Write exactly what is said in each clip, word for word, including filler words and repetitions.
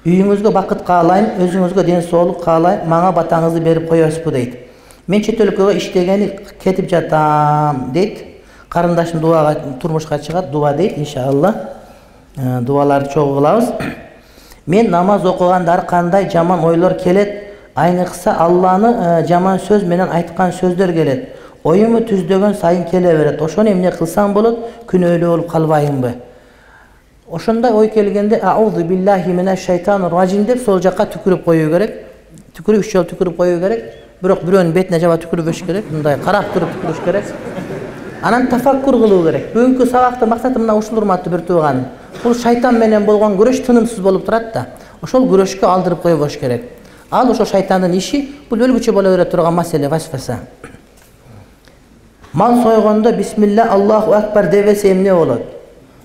Үйүңүзгө бакыт каалайм, өзүңүзгө ден соолук каалайм, мага батаңызды берип коесузбу дейт. Мен чет өлкөгө иштегени кетип жатам дейт. Карындашым дуага турмушка чыгат, дуа дейт иншалла. Дуаларды чогуу кылабыз. Мен намаз окуганда ар кандай жаман ойлор келет, айныкса Алланы жаман сөз менен айткан сөздөр келет. Оюму түздөгөн сайын келе берет. Ошону эмне кылсам болот, күнөөлүү болуп калбайымбы? Ошондай ой келгенде аузу биллахи минаш шайтанир ражим деп сол жакка түкүрүп коюу керек. Түкүрүп үч жолу түкүрүп коюу керек. Бирок бирөөнүн бетине жаба түкүрүбөш керек. Мындай карап туруп түкүрүш керек. Анан тафаккур кылуу керек. Бүгүнкү сабактын максаты мына ушул, урматтуу бир тууганым. Бул шайтан менен болгон күрөш тынымсыз болуп турат да. Ошол күрөшкө алдырып койбош керек. Ал ошо шайтандын иши, бул өлгүчө боло бере турган маселе васваса. Мал сойгондо бисмилла Аллаху акбар дебесе эмне болот?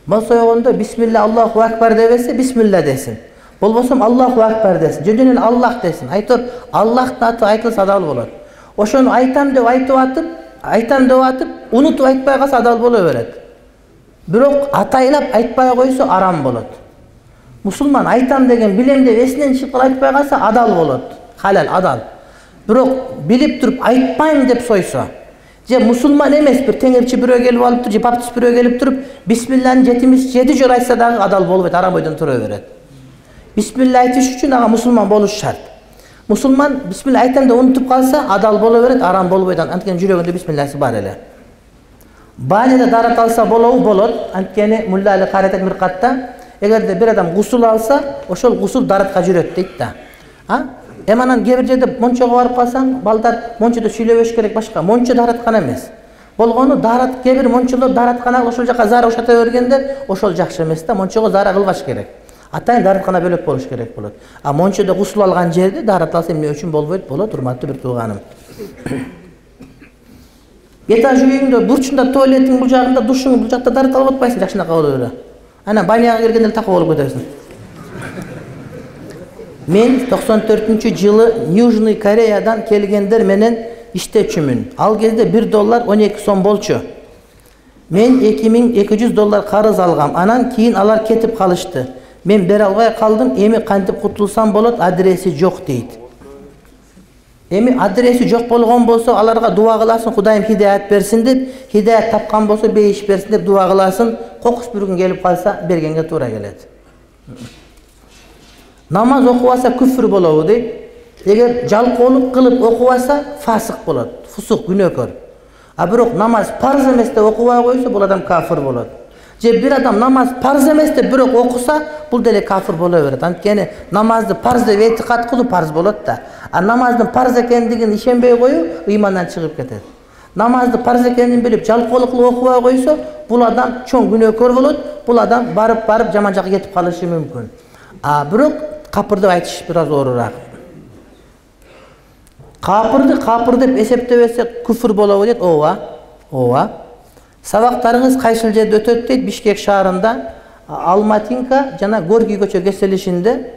Мал сойгондо бисмилла Аллаху акбар дебесе бисмилла десин. Болбосом Аллаху акбар десин. Жөн эле Аллах десин. Айтор Аллахтын аты айтылса адал болот. Ошону айтам деп айтып атып, айтам деп атып, унутуп айтпай калса адал боло берет. Бирок атайлап айтпай койсо арам болот. Мусулман айтам деген билем деп эсинен чыгып калып айтпай калса адал болот. Халал, адал. Бирок билип туруп айтпайм деп сойсо, же мусулман эмес бир теңирчи бирөө келип алыптыр, же баптист бирөө келип туруп, бисмилланы жетимиш жети жолу айтса дагы адал болбойт, арам ойдон тура берет. Бисмилла айтыш үчүн ага мусулман болуш шарт. Мусулман бисмилла айтам деп унутуп калса адал боло берет, арам болбойт. Анткени жүрөгүндө бисмилласы бар эле. Баняда дарат алса болобу? Болот. Анткени Мулла Али Каратет Миркатта эгерде бир адам гусул алса, ошол гусул даратка жүрөт дейт да. А? Эми анан кээ бир жерде мончого барып калсаң, балдар мончодо сүйлөбөш керек башка. Мончо дараткана эмес. Болгону дарат, кээ бир мончолор даратканага ошол жака зара ошата бергенде ошол жакшы эмес да. Мончого зара кылбаш керек. Атайын дараткана бөлөк болуш керек болот. А мончодо гусул алган жерде дарат алса эмне үчүн болбойт? Болот, урматтуу бир тууганым. Этаж үйүңдө бурчунда туалеттин бул жагында, душуң бул жакта дарат алып атпайсың, жакшынака боло бере. Анан баняга киргенде такы болуп кетесиң. Мен токсон төртүнчү жылы Южный Кореядан келгендер менен иштечүмүн. Ал кезде бир доллар он эки сом болчу. Мен эки миң эки жүз доллар карыз алгам. Анан кийин алар кетип калышты. Мен бере албай калдым. Эми кантип кутулсам болот? Адреси жок дейт. Эми адреси жок болгон болсо, аларга дуа кыласың, Кудайым хидаят берсин деп, хидаят тапкан болсо бейиш берсин деп дуа кыласың. Кокус бир күн келип калса, бергенге туура келет. Намаз окубаса күфүр болобу дейт. Эгер жалкоолук кылып окубаса фасык болот, фусук, күнөөкөр. А бирок намаз парз эмес деп окубай койсо, бул адам кафир болот. Же бир адам намаз парз эмес деп бирок окуса, бул деле кафир боло берет. Анткени намазды парз деп этикат кылуу парз болот да. А намаздын парз экендигин ишенбей коюу ыймандан чыгып кетет. Намазды парз экенин билип жалкоолук кылып окубай койсо, бул адам чоң күнөөкөр болот. Бул адам барып барып жаман жакка кетип калышы мүмкүн. А бирок капыр деп айтыш бир аз оорураак. Капырды капыр деп эсептебесе күфүр болобу дейт. Ооба. Ооба. Сабактарыңыз кайсыл жерде өтөт дейт? Бишкек шаарында Алматинка жана Горький көчө кеселишинде.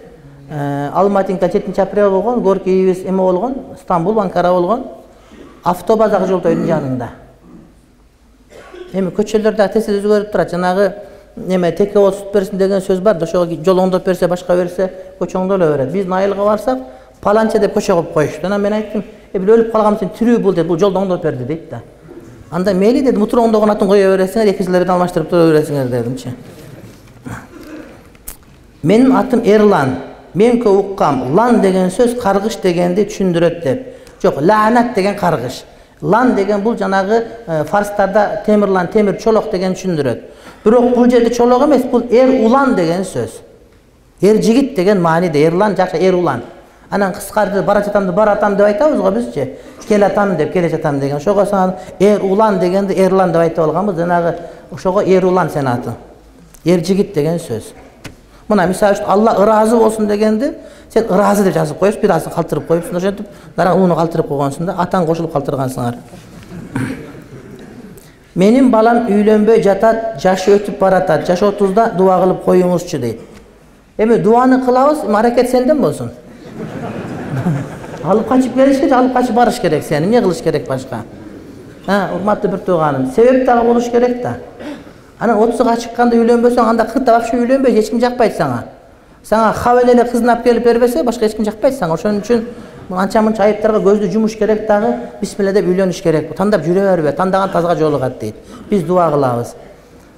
Алматинка жетинчи апрель болгон, Горькийбиз эме болгон, Стамбул, Анкара болгон. Автобазак жолтойдун жанында. Эми көчөлөрдө тез өзгөрүп турат. Жанагы неме теке болуп сут берсин деген сөз бар. Ошого жол оңдоп берсе, башка берсе, көчө оңдоло берет. Биздин айылга барсак, паланча деп көчө коюп коюшту. Анан мен айттым, "Э, бул өлүп калган сен тирүү бул" деп, бул жолду оңдоп берди дейт да. Анда мейли дедим, утура оңдогон атын кое бересиңер, эки жылдан алмаштырып тура бересиңер дедимчи. Менин атым Эрлан. Мен көп уккам, лан деген сөз каргыш дегенди түшүндүрөт деп. Жок, лаанат деген каргыш. Лан деген бул жанагы фарстарда темирлан, темир чолок деген түшүндүрөт. Бирок бул жерде чолок эмес, бул эр улан деген сөз. Эр жигит деген мааниде, Эрлан жакшы эр улан. Анан кыскартып бара жатамды, бара атам деп айтабыз го бизчи. Кел атам деп, келе жатам деген. Ошого сан эр улан дегенди Эрлан деп айтып алганбыз. Жанагы ошого эр улан сен аты. Эр жигит деген сөз. Мына мисалы үчүн Алла ыраазы болсун дегенди сен ыраазы деп жазып коюпсуң, бир азын калтырып коюпсуң, ошентип дара ууну калтырып койгонсуң да, атаң кошулуп калтыргансыңар. Менин балам үйлөнбөй жатат, жашы өтүп баратат. Жаш отузда дуа кылып коюңузчу дейт. Эми дуаны кылабыз, аракет сенден болсун. Алып качып келиш керек, алып качып барыш керек сени. Эмне кылыш керек башка? Ha, урматтуу бир тууганым, себеп дагы болуш керек да. Анан отузга чыкканда үйлөнбөсөң, анда кыркта вообще үйлөнбөй, эч ким жакпайт сага. Сага хабен эле кызын алып келип бербесе, башка эч ким жакпайт сага. Ошон үчүн анча-мынча айыптарга көздү жумуш керек дагы, бисмилла деп үйлөнүш керек. Тандап жүрө бербе, тандаган тазга жолугат дейт. Биз дуа кылабыз.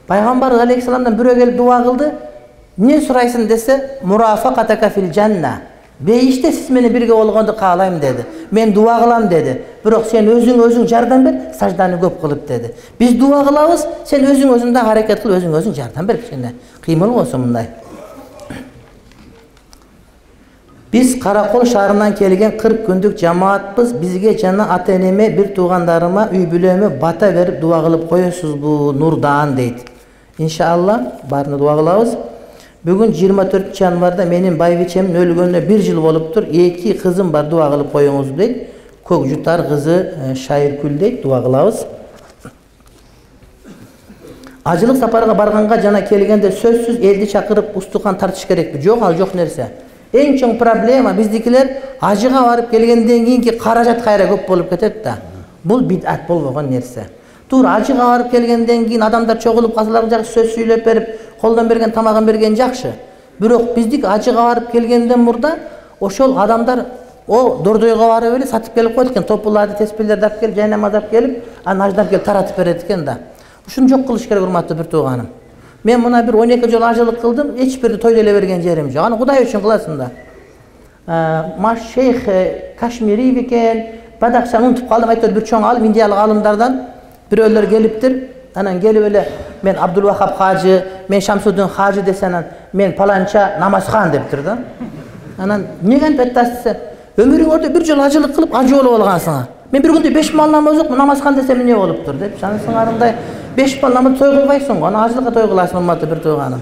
Пайгамбар алейхиссаламдан бирөө келип дуа кылды. Эмне сурайсың десе, мурафакатака фил жанна. Бейиште сиз менен бирге болгонду каалайм деди. Мен дуа кылам деди. Бирок сен өзүң өзүң жардам бер, сажданы көп кылып деди. Биз дуа кылабыз, сен өзүң өзүң да аракет кыл, өзүң өзүң жардам бер кичине. Кыймыл болсун мындай. Биз Каракол шаарынан келген кырк күндүк жамаатпыз. Бизге жана ата-энеме, бир туугандарыма, үй бүлөмө бата берип дуа кылып коесузбу? Нурдан дейт. Иншалла баарына дуа кылабыз. Бүгүн жыйырма төртүнчү январда менин байбичемдин өлгөнүнө бир жыл болуптур. Эки кызым бар, дуа кылып коюңуз дейт. Көк жутар кызы Шайыркүл дейт, дуа кылабыз. Ажылык сапарга барганга жана келгенде сөзсүз элди чакырып устукан тартыш керекпи? Жок, ал жок нерсе. Эң чоң проблема биздикилер ажыга барып келгенден кийинки каражат кайра көп болуп кетет да. Бул бидат болбогон нерсе. Тур ажыга барып келгенден кийин адамдар чогулуп калсалар жакшы, сөз сүйлөп берип, колдон берген тамагын берген жакшы. Бирок биздик ажыга барып келгенден мурда ошол адамдар о дордойго барып эле сатып келип коет экен, топуларды, теспелерди алып келип, жайнамаз алып келип, анан аждан келип таратып берет экен да. Ушуну жок кылыш керек, урматтуу бир тууганым. Мен мына бир он эки жол ажылык кылдым, эч бирди той деле берген жерим жок. Аны Кудай үчүн кыласың да. Маш шейх Кашмири бекен, Бадакшаны унутуп калдым, айтор бир чоң алым, индиялык алымдардан бирөөлөр келиптир. Анан келип эле мен Абдулвахап хажы, мен Шамсуддин хажы десе, анан мен паланча намазхан дептир да. Анан эмнеге антип айтасыз? Өмүрүңөрдө бир жол ажылык кылып ажы болуп алгансың. Мен бир күндө беш мал намаз окуп намазхан десем эмне болуптур деп. Шанысыңарындай беш мал намаз той кылбайсың го, анан ажылыкка той кыласың, урматтуу бир тууганым.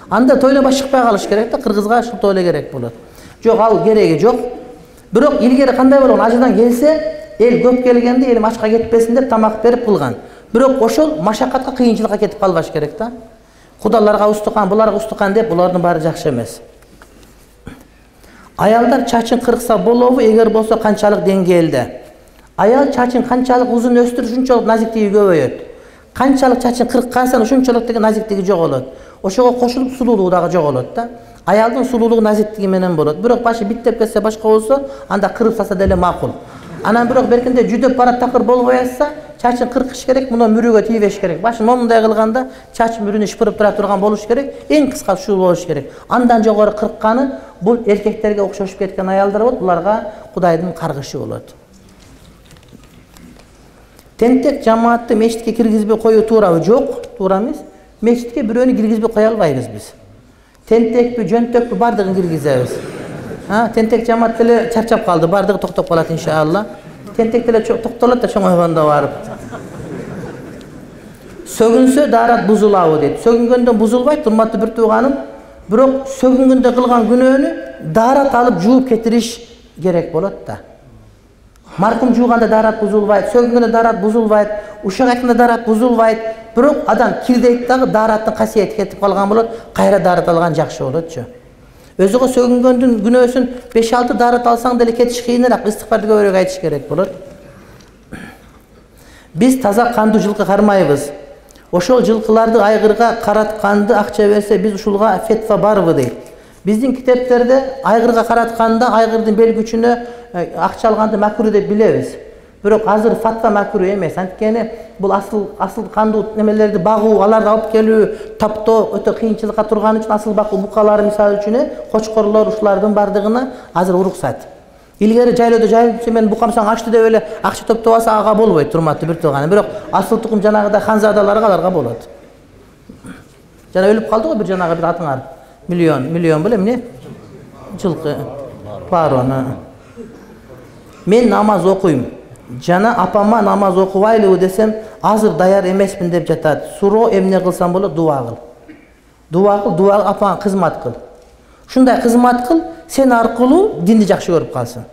Анда тойлобой чыкпай калыш керек да, кыргызга ушул той эле керек болот. Жок, ал кереги жок. Бирок илгери кандай болгон, ажыдан келсе, эл көп келгенде элим ачка кетпесин деп тамак берип кылган. Бирок ошол машакатка, кыйынчылыкка кетип калбаш керек да. Кудаларга устукан, буларга устукан деп, булардын баары жакшы эмес. Аялдар чачын кыркса болобу, эгер болсо канчалык деңгээлде? Аял чачын канчалык узун өстүрүп, ушунчалык назиктиги көбөйөт. Канчалык чачын кырккансаң, ушунчалык деген назиктиги жоголот. Ошого кошулуп сулуулугу дагы жоголот да. Аялдын сулуулугу назиктиги менен болот. Бирок башы биттеп кетсе, башка болсо, анда кырып салса деле макул. Анан бирок беркинде жүдөп барат, такыр болбой атса, чачын кыркыш керек, муну мүрүгө тийбеш керек. Башын момундай кылганда чач мүрүнү шыпырып тура турган болуш керек, эң кыска ушул болуш керек. Андан жогору кыркканы бул эркектерге окшошуп кеткен аялдар болот, буларга Кудайдын каргышы болот. Тентек жамаатты мечитке киргизбей коюу туурабы? Жок, туура эмес. Мечитке бирөөнү киргизбей кое албайбыз биз. Тентекпи, жөнтөкпү бардыгын киргизебиз. Ha, тентек жамаат деле чарчап калды, бардыгы токтоп калат иншалла. Тентек деле токтолот да чоңойгондо барып. Сөгүнсө даарат бузулабы дейт. Сөгүнгөндөн бузулбайт, урматтуу бир тууганым. Бирок сөгүнгөндө кылган күнөөнү даарат алып жууп кетириш керек болот да. Маркум жууганда даарат бузулбайт, сөгүнгөндө даарат бузулбайт, ушак айтканда даарат бузулбайт. Бирок адам кирдейт дагы даараттын касиети кетип калган болот, кайра даарат алган жакшы болотчу. Өзүгө сөгүнгөндүн күнөөсүн беш алты даарат алсаң деле кетиш кыйыныраак, истигфарды көбүрөөк айтыш керек болот. Биз таза кандуу жылкы кармайбыз. Ошол жылкыларды айгырга каратканды акча берсе, биз ушулга фетва барбы дейт. Биздин китептерде айгырга каратканда айгырдын бел күчүнө акча алганды макруh деп билебиз. Бирок азыр фатва макруh эмес. Анткени бул асыл асыл кандуу немелерди багуу, аларды алып келүү, таптоо өтө кыйынчылыкка турган үчүн асыл бакуу букалары мисалы үчүн кочкорлор ушулардын бардыгына азыр уруксат. Илгери жайлоодо жайылып мен букамсаң ачты деп эле акча топтоп алса ага болбойт, урматтуу бир тууганым. Бирок асыл тукум жанагыдай ханзадаларга аларга болот. Жана өлүп калды го бир жанагы бир атыңар. Миллион, миллион беле эмне? Жылкы. Пароны. Мен намаз окуйм. Жана апама намаз окубайлыбы десем, азыр даяр эмесмин деп жатат. Суроо эмне кылсам болот? Дуа кыл. Дуа кыл, дуа апаңа кызмат кыл. Ушундай кызмат кыл, сен аркылуу динди жакшы көрүп калсын.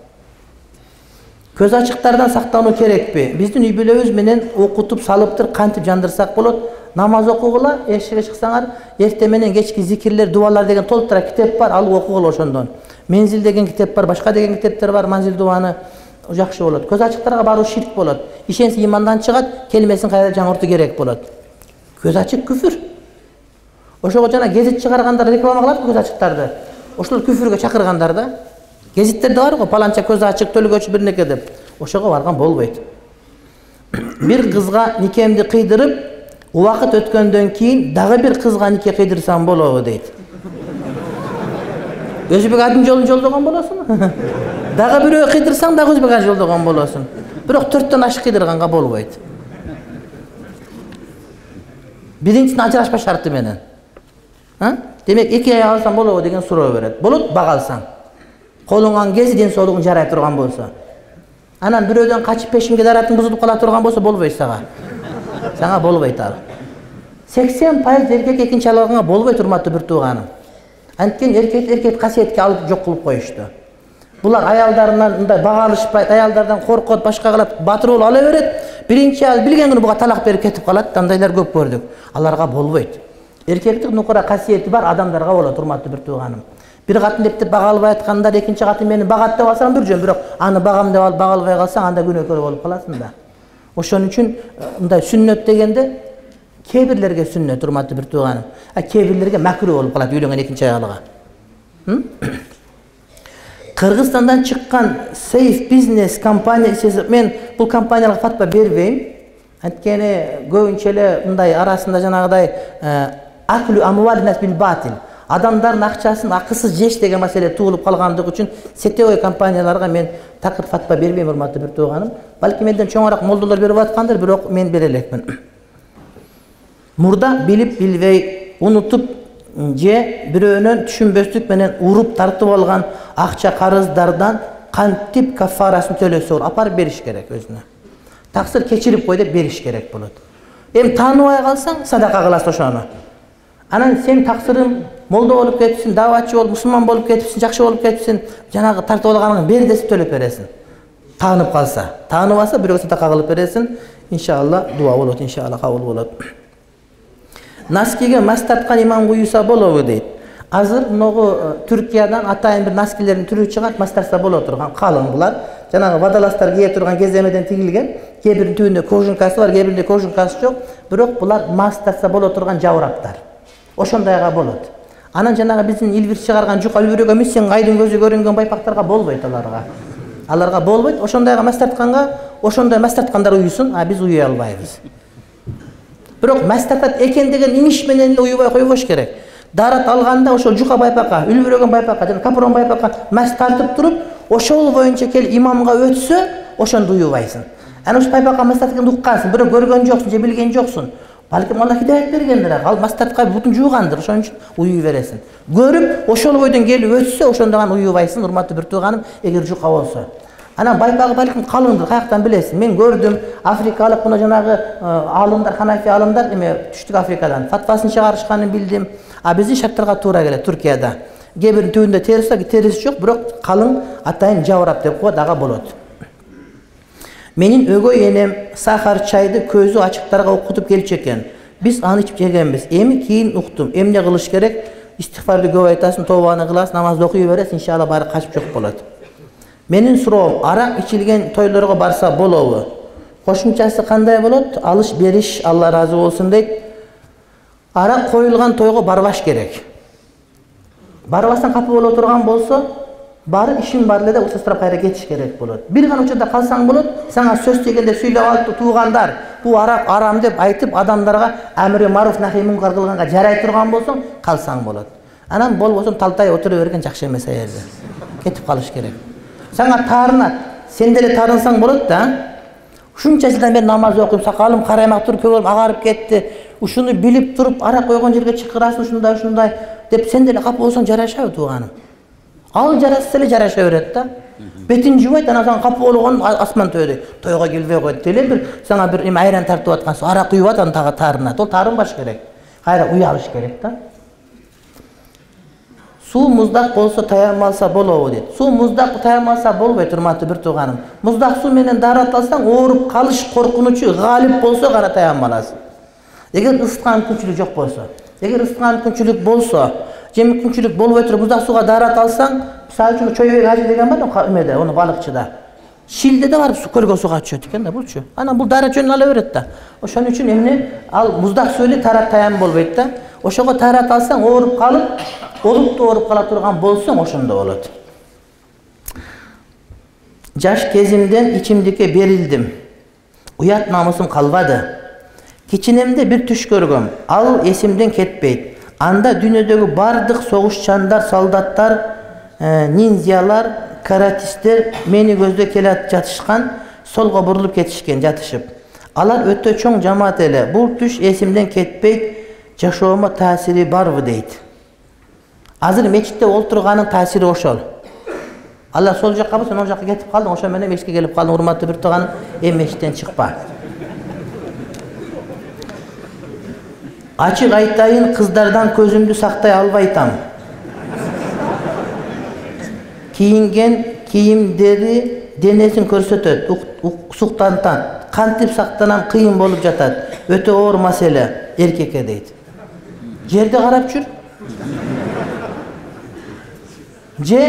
Көз ачыктардан сактануу керекпи? Биздин үй бүлөбүз менен окутуп салыптыр, кантип жандырсак болот? Намаз окугула, эшикке чыксаңар, эртең менен кечки зикирлер, дуалар деген толтура китеп бар, алып окугула ошондон. Мензил деген китеп бар, башка деген китептер бар, манзил дуаны жакшы болот. Көз ачыктарга баруу ширк болот. Ишенсе имандан чыгат, келмесин кайра жаңыртуу керек болот. Көз ачык күфүр. Ошого жана гезит чыгаргандар реклама кылат көз ачыктарды. Ошол күфүргө чакыргандар да. Гезиттерде бар го, паланча көз ачык, төлгөчү бир неке деп. Ошого барган болбойт. Бир кызга никемди кыйдырып, убакыт өткөндөн кийин дагы бир кызга нике кыйдырсам болобу дейт. Өзбек адын жолун жолдогон болосуң. Дагы бирөө кыйдырсаң дагы өзбек адын жолдогон болосуң. Бирок төрттөн ашык кыйдырганга болбойт. Биринчисин ажырашпа шарты менен. Демек эки ай алсаң болобу деген суроо берет. Болот, бак алсаң. Колуңан кези ден соолугуң жарай турган болсо. Анан бирөөдөн качып пешимге даратын бузулуп кала турган болсо болбойт сага. Сага болбойт ал. сексен пайыз эркек экинчи алганга болбойт, урматтуу бир тууганым. Анткени эркек эркек касиетке алып жок кылып коюшту. Булар аялдарынан мындай бага алышпайт, аялдардан коркот, башка кылат, батыр болуп ала берет. Биринчи аял билген күнү буга талак берип кетип калат, андайлар көп көрдүк. Аларга болбойт. Эркектик нукура касиети бар адамдарга болот, урматтуу бир тууганым. Бир катын деп бага албай аткандар, экинчи катын мени багат деп алсаң бир жөн, бирок аны багам деп алып бага албай калсаң анда күнөөкөр болуп каласың да. Ошон үчүн мындай сүннөт дегенде кээ бирлерге сүннөт, урматтуу бир тууганым. А кээ бирлерге макруh болуп калат үйлөнгөн экинчи аялга. Кыргызстандан чыккан Safe Business компаниясы, мен бул компанияларга фатва бербейм. Анткени көбүнчө эле мындай арасында жанагыдай аклу амвалинас бил батил, адамдардын акчасын акысыз жеш деген маселе туулуп калгандыгы үчүн сетевой компанияларга мен такыр фатва бербейм, урматтуу бир тууганым. Балки менден чоңураак молдолор берип аткандыр, бирок мен бере элекмин. Мурда билип билбей, унутуп же бирөөнөн түшүнбөстүк менен уруп тартып алган акча карыздардан кантип кафарасын төлөсө болот, апарып бериш керек өзүнө. Таксыр кечирип кой деп бериш керек болот. Эми тааныбай калсаң садака кыласың ошону. Анан сен таксырың молдо болуп кетипсиң, даватчы болуп, мусулман болуп кетипсиң, жакшы болуп кетипсиң, жанагы тартып алганыңды бер десе төлөп бересиң. Таанып калса, тааныбаса бирөө садака кылып бересиң, иншалла дуа болот, иншалла кабыл болот. Наскиге мас тарткан имам куюса болобу дейт. Азыр могу Түркиядан атайын бир наскилердин түрү чыгат, мас тартса боло турган, калың булар. Жанагы вадаластар кие турган кеземеден тигилген, кээ биринин түбүндө кожункасы бар, кээ биринде кожункасы жок, бирок булар мас тартса боло турган жабыраптар. Ошондойга болот. Анан жанагы биздин илбир чыгарган жука үлбүрөк эмес, сен айдын көзү көрүнгөн байпактарга болбойт аларга. Аларга болбойт. Ошондойга мас тартканга, ошондой мас тарткандар уюсун, а биз уюй албайбыз. Бирок мас тартат экен деген имиш менен эле уюбай койбош керек. Дарат алганда ошол жука байпакка, үлбүрөгөн байпакка жана капрон байпакка мас тартып туруп, ошол боюнча кел имамга өтсө, ошондо уюбайсың. Анан ошол байпакка мас тартканды уккансың, бирок көргөн жоксуң же билген жоксуң. Балким Алла хидаят бергендир, ал мас тарткан бутун жуугандыр, ошон үчүн уюй бересиң. Көрүп, ошол бойдон келип өтсө, ошондо гана уюбайсың, урматтуу бир тууганым, эгер жука болсо. Анан байпагы балким калыңдыр, каяктан билесиң? Мен көрдүм, Африкалык мына жанагы алымдар, Ханафи алымдар, эме Түштүк Африкадан фатвасын чыгарышканын билдим. А биздин шарттарга туура келет Түркияда. Кээ биринин түбүндө терisi бар, терisi жок, бирок калың атайын жабырап деп коет, ага болот. Менин өгөй энем сахар чайды көзү ачыктарга окутуп келчү экен. Биз аны ичип жегенбиз. Эми кийин уктум. Эмне кылыш керек? Истигфарды көп айтасың, тобаны кыласың, намазды окуй бересиң, иншалла баары качып жок болот. Менин суроом, арак ичилген тойлорго барса болобу? Кошумчасы кандай болот? Алыш бериш, Алла разы болсун дейт. Арак коюлган тойго барбаш керек. Барбастан капы боло турган болсо, бары ишин бар эле деп устастырып кайра кетиш керек болот. Бир гана учурда калсаң болот, сага сөз дегенде сүйлөп алып туугандар, бу арак арам деп айтып адамдарга амри маруф нахи мункар кылганга жарай турган болсоң, калсаң болот. Анан болбосо талтай отура берген жакшы эмес аерде. Кетип калыш керек. Сага таарынат, сен деле таарынсаң болот да. Ушунча жылдан бери намаз окуйм, сакалым караймак туруп, көңүлүм агарып кетти. Ушуну билип туруп, арак койгон жерге чакырасың, ушундай ушундай деп сен деле капы болсоң жарашабы тууганым? Ал жараса эле жараша берет да. Бетин жубайт, анан сага капы болгон асман төбөдөй. Тойго келбей койт деле бир сага бир эме айран тартып аткан соң арак куюп атат, тагы таарынат. Ол таарынбаш керек. Кайра уялыш керек да. Суу муздак болсо таянмалса болобу дейт. Суу муздак таянмалса болбойт, урматтуу бир тууганым. Муздак суу менен дарат алсаң, ооруп калыш коркунучу галип болсо гана таянмаласың. Эгер ысыткан мүмкүнчүлүк жок болсо, эгер ысыткан мүмкүнчүлүк болсо, же мүмкүнчүлүк болбой туруп муздак сууга дарат алсаң, мисалы үчүн чойбек ажы деген бар да, эмеде, ону балыкчыда. Шилде да барып көлгө сууга түшөт экен да булчу. Анан бул дара жөнүн ала берет да. Ошон үчүн эмне ал муздак суу эле тарат таян болбойт да. Ошого тарат алсаң, ооруп калып, олуптуу ооруп кала турган болсоң, ошондо болот. Жаш кезимден ичимдикке берилдим. Уят намысым калбады. Кичинемде бир түш көргөм. Ал эсимден кетпейт. Анда дүйнөдөгү бардык согушчандар, солдаттар, ниндзялар, каратисттер мени көздөй келе жатышкан, солго бурулуп кетишкен жатышып. Алар өтө чоң жамаат эле. Бул түш эсимден кетпейт. Жашоомо таасири барбы дейт. Азыр мечитте олтурганын таасири ошол. Алар сол жакка болсо, ол жакка кетип калдың, ошо менен мечитке келип калдың, урматтуу бир тууганым, эми мечиттен чыкпа. Ачык айтайын, кыздардан көзүмдү сактай албайтам. Кийинген кийимдери денесин көрсөтөт, суктантан. Кантип сактанам кыйын болуп жатат. Өтө оор маселе эркекке дейт. Жерде карап жүр. Же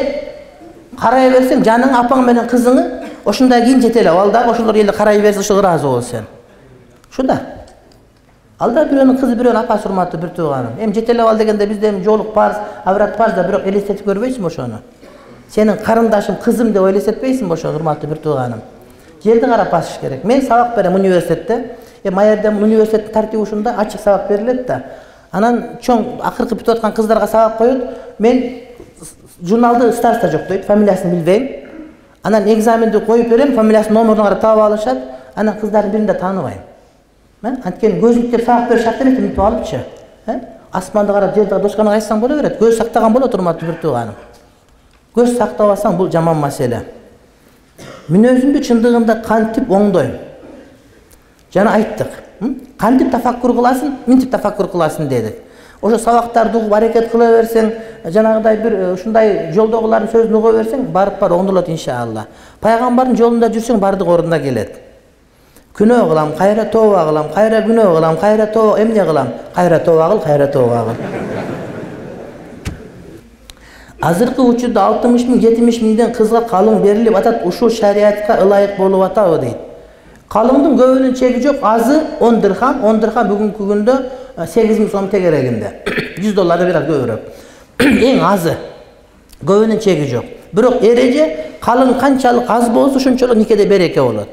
карай берсең, жаның апаң менен кызыңы ошондой кийин жете эле. Ал дагы ошолор эле карай берсе, ошо ыраазы бол сен. Ушунда. Ал да бирөөнүн кызы, бирөөнүн апасы, урматтуу бир тууганым. Эми жете эле ал дегенде бизде эми жоолук парз, аврат парз да, бирок элестетип көрбөйсүңбү ошону? Сенин карындашым, кызым деп элестетпейсиңби ошону, урматтуу бир тууганым? Жерди карап басыш керек. Мен сабак берем университетте. Эми аерде университеттин тартиби ушунда, ачык сабак берилет да. Анан чоң акыркы бүтүп аткан кыздарга сабак коет. Мен журналды староста жок дейт, фамилиясын билбейм. Анан экзаменди коюп берем, фамилиясын, номерун карап таап алышат. Анан кыздардын бирин да тааныбайм. Анткени көзүнүктеп сабак берип шарт эмес, мынтип алыпчы. Асманды карап жерди дошканага айтсаң боло берет. Көз сактаган болот, урматтуу бир тууганым. Көз сактабасаң, бул жаман маселе. Мүнөзүмдү чындыгында кантип оңдойм? Жана айттык. Кантип тафаккур кыласың, мынтип тафаккур кыласың дедик. Ошо сабактарды угуп аракет кыла берсең, жанагыдай бир ушундай жолдогулардын сөзүн уга берсең, барып бар оңдолот иншалла. Пайгамбардын жолунда жүрсөң, бардык ордуна келет. Күнөө кылам, кайра тооба кылам, кайра күнөө кылам, кайра тооба, эмне кылам? Кайра тооба кыл, кайра тооба кыл. Азыркы учурда алтымыш миң, жетимиш миңден кызга калың берилип атат, ушул шариатка ылайык болуп атабы дейт. Калыңдын көбүнүн чеги жок, азы он дирхам, он дирхам бүгүнкү күндө сегиз миң сом тегерегинде. жүз доллардан бир аз көбүрөөк. Эң азы. Көбүнүн чеги жок. Бирок эреже калың канчалык аз болсо, ошончолук никеде береке болот.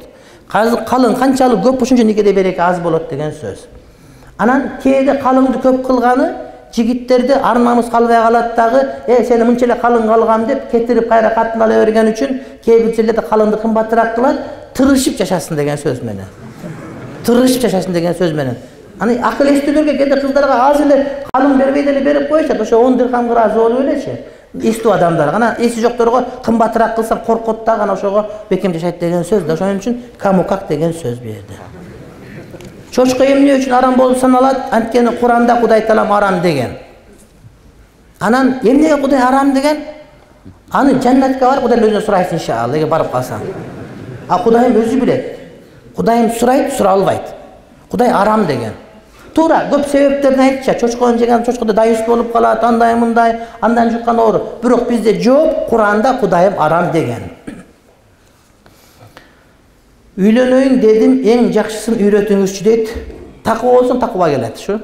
Калың канчалык көп, ошончо никеде береке аз болот деген сөз. Анан кээде калыңды көп кылганы жигиттерди ар намыс калбай калат дагы, э сени мынча эле калың калгам деп кетирип кайра катын ала берген үчүн кээ бир жерлерде калыңды кымбатыраак кылат, тырышып жашасын деген сөз менен. Тырышып жашасын деген сөз менен. Аны акыл эстүүлөргө кээде кыздарга аз эле калың бербей деле берип коюшат, ошо он дирхам разы болуп элечи. Эстүү адамдар, анан эси жокторго кымбатыраак кылсаң коркот да, анан ошого бекем жашайт деген сөз да. Ошон үчүн кому как деген сөз берди. Чочко эмне үчүн арам болуп саналат? Анткени Куранда Кудай таалам арам деген. Анан эмнеге Кудай арам деген? Аны жаннатка барып Кудайдын өзүнөн сурайсың иншалла, эгер барып калсаң. А Кудайым өзү билет. Кудайым сурайт, суралбайт. Кудай арам деген. Туура, көп себептерин айтча, чочкону жеген чочкодо дайыс болуп калат, андай мындай, андан жуккан оору. Бирок бизде жооп, Куранда Кудайым арам деген. Үйлөнөйүн дедим, эң жакшысын үйрөтүңүзчү дейт. Таква болсоң таква келет, шу.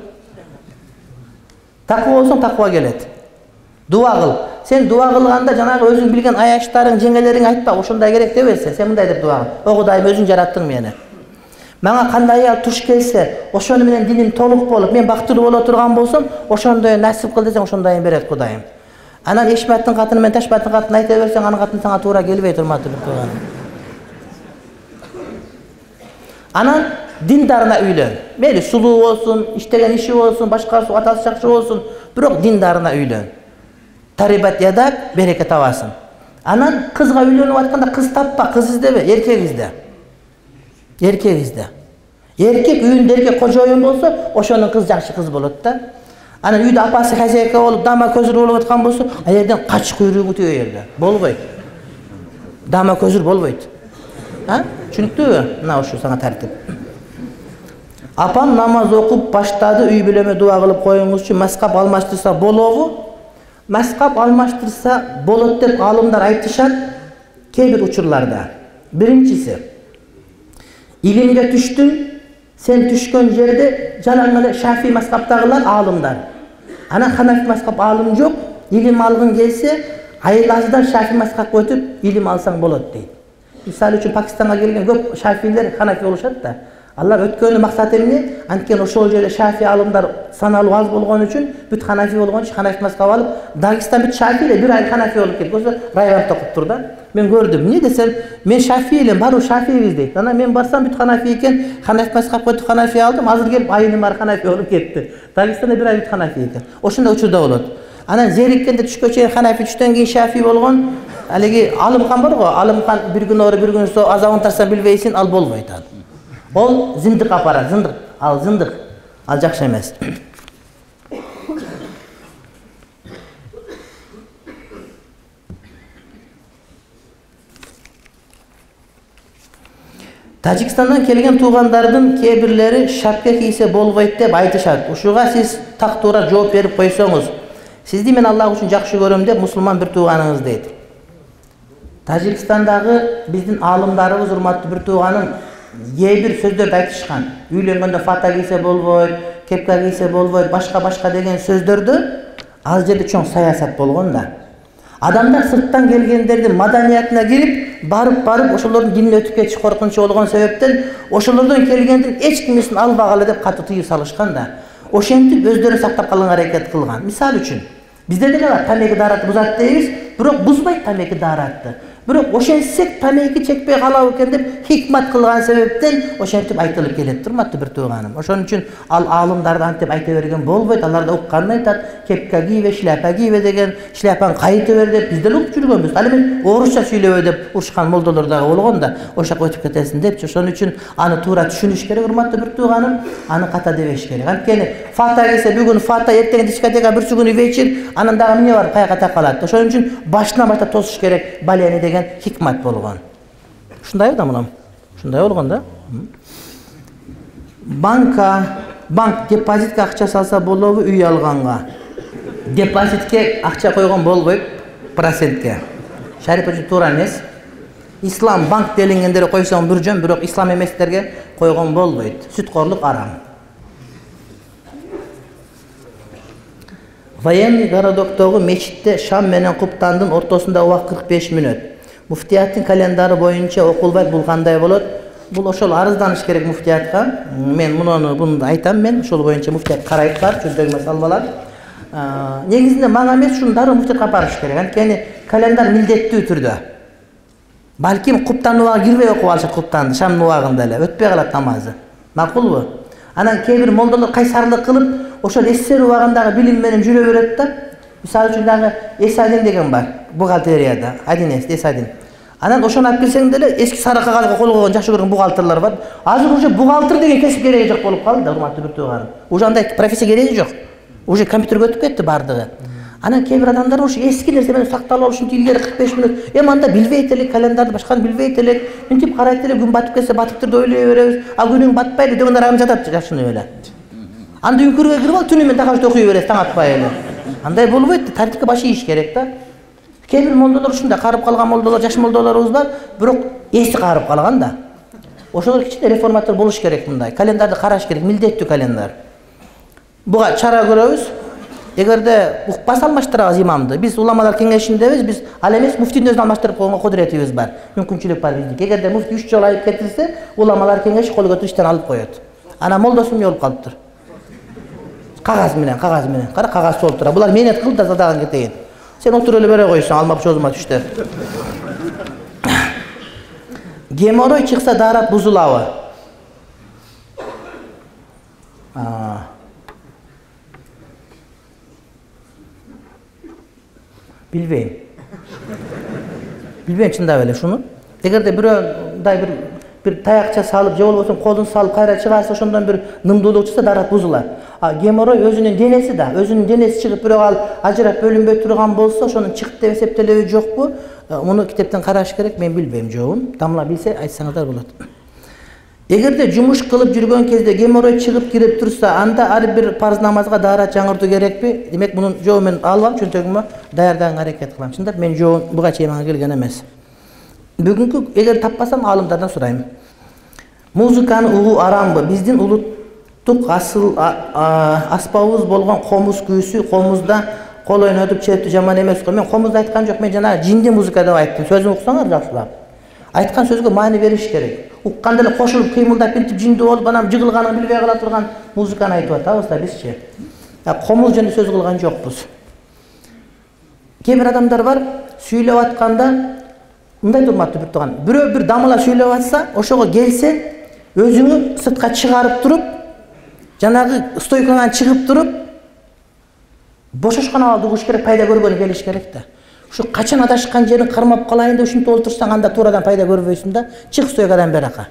Таква болсоң таква келет. Дуа кыл. Сен дуа кылганда жанагы өзүң билген аяштарың, жеңелериң айтпа, ошондой керек деп эсе. Сен мындай деп дуа кыл. О Кудайым, өзүң жараттың мени. Мага кандай аял туш келсе, ошону менен диним толук болуп, мен бактылуу боло турган болсом, ошондой насип кыл десең, ошондойун берет Кудайым. Анан Эшматтын катыны менен Ташбаттын катынын айта берсең, анын катыны сага туура келбейт, урматтуу бир тууганым. Анан диндарына үйлөн. Мейли сулуу болсун, иштеген иши болсун, башкасы атасы жакшы болсун, бирок диндарына үйлөн. Тарибат ядак береке табасың. Анан кызга үйлөнүп атканда кыз таппа, кыз издебе, эркек изде. Эркек изде. Эркек үйүндө эркек кожоюн болсо, ошонун кыз жакшы кыз болот да. Анан үйдө апасы хозяйка болуп, дама көзүр болуп аткан болсо, ал жерден кач куйругу тиге жерде. Болбойт. Дама көзүр болбойт. А? Түшүнүктүүбү? Мына ушу сага тартип. Апам намаз окуп баштады, үй бүлөмө дуа кылып коюңузчу, маскап алмаштырса болобу? Маскап алмаштырса болот деп алымдар айтышат кээ бир учурларда. Биринчиси, илимге түштүң, сен түшкөн жерде жалаң эле Шафи маскаптагылар алымдар. Анан Ханафи маскап алым жок, илим алгың келсе, айлазыдан Шафи маскапка өтүп илим алсаң болот дейт. Мисалы үчүн Пакистанга келген көп Шафилер Ханафи болушат да. Алар өткөнү максаты эмне? Анткени ошол жерде Шафи алымдар саналуу аз болгон үчүн бүт Ханафи болгон үчүн Ханафи маскап алып, Дагестан бүт Шафи эле, бир айыл Ханафи болуп кетти. Ошо районда окуп тур да. Мен көрдүм. Эмне десем, мен Шафи элем, баары Шафибиз дейт. Анан мен барсам бүт Ханафи экен, Ханафи маскапка өтүп Ханафи алдым, азыр келип айылым баары Ханафи болуп кетти. Дагестанда бир айыл бүт Ханафи экен. Ошондой учурда болот. Анан зериккенде түшкө чейин Ханафи, түштөн кийин Шафи болгон. Алеги Алымкан бар го, Алымкан бир күн ары бир күн со азабын тарсаң билбейсиң, ал болбойт ал. Ол зындык апарат, зындык. Ал зындык. Ал жакшы эмес. Тажикстандан келген туугандардын кээ бирлери шапка кийсе болбойт деп айтышат. Ушуга сиз так туура жооп берип койсоңуз, сизди мен Аллах үчүн жакшы көрөм деп мусулман бир тууганыңыз дейт. Тажикстандагы биздин алымдарыбыз, урматтуу бир тууганым, кээ бир сөздөрдү айтышкан. Үйлөнгөндө фата кийсе болбойт, кепка кийсе болбойт, башка-башка деген сөздөрдү ал жерде чоң саясат болгон да. Адамдар сырттан келгендердин маданиятына кирип, барып-барып ошолордун динин өтүп кетиш коркунучу болгон себептен ошолордон келгендин эч кимисин албагыла деп катуу тыюу салышкан да. Ошентип өздөрү сактап калганга аракет кылган. Мисалы үчүн, бизде деле бар, тамеки даарат бузат дейбиз, бирок бузбайт тамеки дааратты. Бирок ошентсек тамеки чекпей калабы экен деп хикмат кылган себептен ошентип айтылып келет, урматтуу бир тууганым. Ошон үчүн ал аалымдарды антип айта берген болбойт. Алар да укканын айтат, кепка кийбе, шляпа кийбе деген, шляпаны кайыта бер деп бизде ук жүргөнбүз. Ал эми орусча сүйлөбө деп урушкан молдолор дагы болгон да, ошо жака өтүп кетесиң депчи. Ошон үчүн аны туура түшүнүш керек, урматтуу бир тууганым. Аны ката дебеш керек. Анткени фата келсе бүгүн фата, эртең дискотека, бүрсү күнү вечер, анан дагы эмне бар, каяка такалат. Ошон үчүн башынан баштап тосуш керек, балени деген хикмат болгон. Ушундай да мына. Ушундай болгон да. Банка, банк депозитке акча салса болобу, үй алганга? Депозитке акча койгон болбойт, процентке. Шариф үчүн туура эмес. Ислам банк делингендер койсоң бир жөн, бирок ислам эместерге койгон болбойт. Сүткорлук арам. Военный городоктогу мечитте шам менен куптандын ортосунда убакыт кырк беш мүнөт. Муфтияттын календары боюнча окулбайт, бул кандай болот? Бул ошол арызданыш керек муфтиятка. Мен муну буну айтам, мен ошол боюнча муфтият карайт бар, чөздөг салбалар. Негизинде мага эмес, ушуну дароо муфтиятка барыш керек. Анткени календар милдеттүү түрдө. Балким куптан убагы кирбей окуп алышат, куптанды шамдын убагында эле өтпөй калат намазы. Макулбу? Анан кээ бир молдолор кайсарлык кылып, ошол эсер убагындагы билим менен жүрө берет да. Мисалы үчүн дагы Эсадин деген бар, бухгалтерияда, один эс, Эсадин. Анан ошону алып келсең деле эски сары кагазга кол койгон жакшы көргөн бухгалтерлер бар. Азыр уже бухгалтер деген кесип кереги жок болуп калды да, урматтуу бир тууганым. Уже андай профессия кереги жок. Уже компьютерге өтүп кетти бардыгы. Анан кээ бир адамдар ушу эски нерсе менен сакталып алышып, илгери кырк беш мүнөт. Эми анда билбейт элек, календарды башканы билбейт элек. Мынтип карайт элек, күн батып кетсе батып турду ойлой беребиз. А күнүң батпайды дегендер ам жатат жашынып эле. Анда үңкүргө кирип ал түнү менен такашты окуй бересиз, таң атпай эле. Андай болбойт, тартипке баш ийиш керек да. Кээ бир молдолор ушундай карып калган молдолор, жаш молдолорубуз бар, бирок эси карып калган да. Ошолор кичине реформатор болуш керек мындай. Календарды караш керек, милдеттүү календар. Буга чара көрөбүз. Эгерде укпаса алмаштырабыз имамды. Биз уламалар кеңешиндебиз, биз ал эмес муфтийдин өзүн алмаштырып койгонго кудуретибиз бар. Мүмкүнчүлүк бар биздики. Эгерде муфтий үч жолу айып кетилсе, уламалар кеңеши кол көтөрүп иштен алып коет. Анан молдосу эмне болуп калыптыр? Кагаз менен, кагаз менен. Кара, кагаз болуп тура. Булар менет кыл да задаган кетейин. Сен отуруп эле бере койсоң, алмап чозума түштө. Геморрой чыкса даарат бузулабы? Билбейм. Билбейм чындап эле шуну. Эгерде бирөөдай бир bir tayakça salıp же болбосо колун салып кайра чыгарса ошондон бир нымдуулук чыкса дарат бузулат. А геморрой өзүнүн денеси да, өзүнүн денеси чыгып бирок ал ажырап бөлүнбөй турган болсо ошонун чыгып деп эсептелеби жокпу? Муну китептен караш керек, мен билбейм, жобун. Дамла билсе айтсаңыздар болот. Эгерде жумуш кылып жүргөн кезде геморрой чыгып кирип турса, анда ар бир парз намазга даарат жаңыртуу керекпи? Демек мунун жообун мен алам, чөнтөгүмө даярданга аракет кылам. Чындап мен жообун буга чейин мага келген эмес. Бүгүнкү эгер таппасам алымдардан сурайм. Музыканы угуу арамбы? Биздин улуттук асыл аспабыбыз болгон комуз күйүүсү, комузда кол ойнотуп чептүү жаман эмес го. Мен комузду айткан жок, мен жана жинди музыка деп айттым. Сөзүн уксаңар жакшылап. Айткан сөзгө маани бериш керек. Укканда эле кошулуп кыймылдап бинтип жинди болуп анан жыгылганын билбей кала турган музыканы айтып атабыз да бизчи. Комуз жөнүндө сөз кылган жокпуз. Кээ бир адамдар бар, сүйлөп атканда мындай турматтуу бир тууган. Бирөө бир дамыла сүйлөп атса, ошого келсе, өзүңү сыртка чыгарып туруп, жанагы стойкаңан чыгып туруп, бошошкон абалда угуш керек, пайда көргөнү келиш керек да. Ушу качан адашкан жерин кармап калайын деп ушинтип олтурсаң, анда туурадан пайда көрбөйсүң да. Чык стойкадан берака.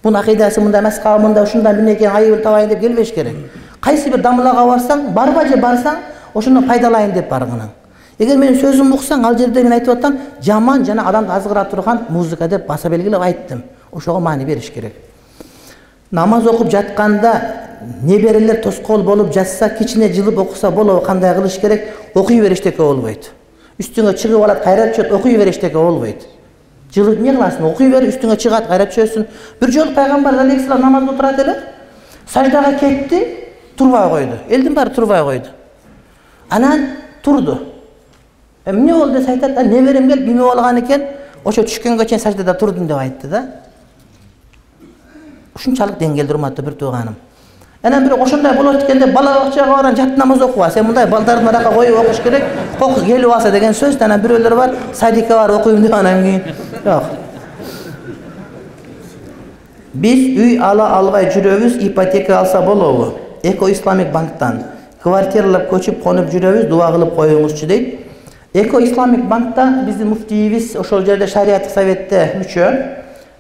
Бунун акыйдасы мындай эмес, мында ушундан бирнеке айыбын табайын деп келбеш керек. Кайсы бир дамылага барсаң, барба же барсаң, ошондон пайдалайын деп баргының. Эгер менин сөзүмдү уксаң, ал жерде мен айтып атам, жаман жана адамды азгыра турган музыка деп баса белгилеп айттым. Ошого маани бериш керек. Намаз окуп жатканда неберелер тоскоол болуп жатса, кичине жылып окуса болобу, кандай кылыш керек? Окуй бериштеке болбойт. Үстүңө чыгып алат, кайра түшөт, окуй бериштеке болбойт. Жылып эмне кыласың? Окуй бер, үстүңө чыгат, кайра түшөсүн. Бир жолу пайгамбар алейхиссалам намазда турат эле, саждага кетти, турбай койду. Элдин баары турбай койду. Анан турду. Эмне болду десе айтат, неберем келип эме болгон экен, ошо түшкөнгө чейин саждада турдум деп айтты да. Ушунчалык деңгээлде урматтуу бир тууганым. Анан бирок ошондой болот экен деп бала бакчага баран жат намаз окуба. Сен мындай балдарды арака коюп окуш керек. Кок келип алса деген сөз. Анан бирөөлөр бар, садикке бар окуйм деп анан кийин. Жок. Биз үй ала албай жүрөбүз, ипотека алса болобу? Эко Исламик банктан. Квартиралап көчүп конуп жүрөбүз, дуа кылып коюңузчу дейт. Эко Исламик банкта биздин муфтийибиз ошол жерде шариаттык советте мүчө.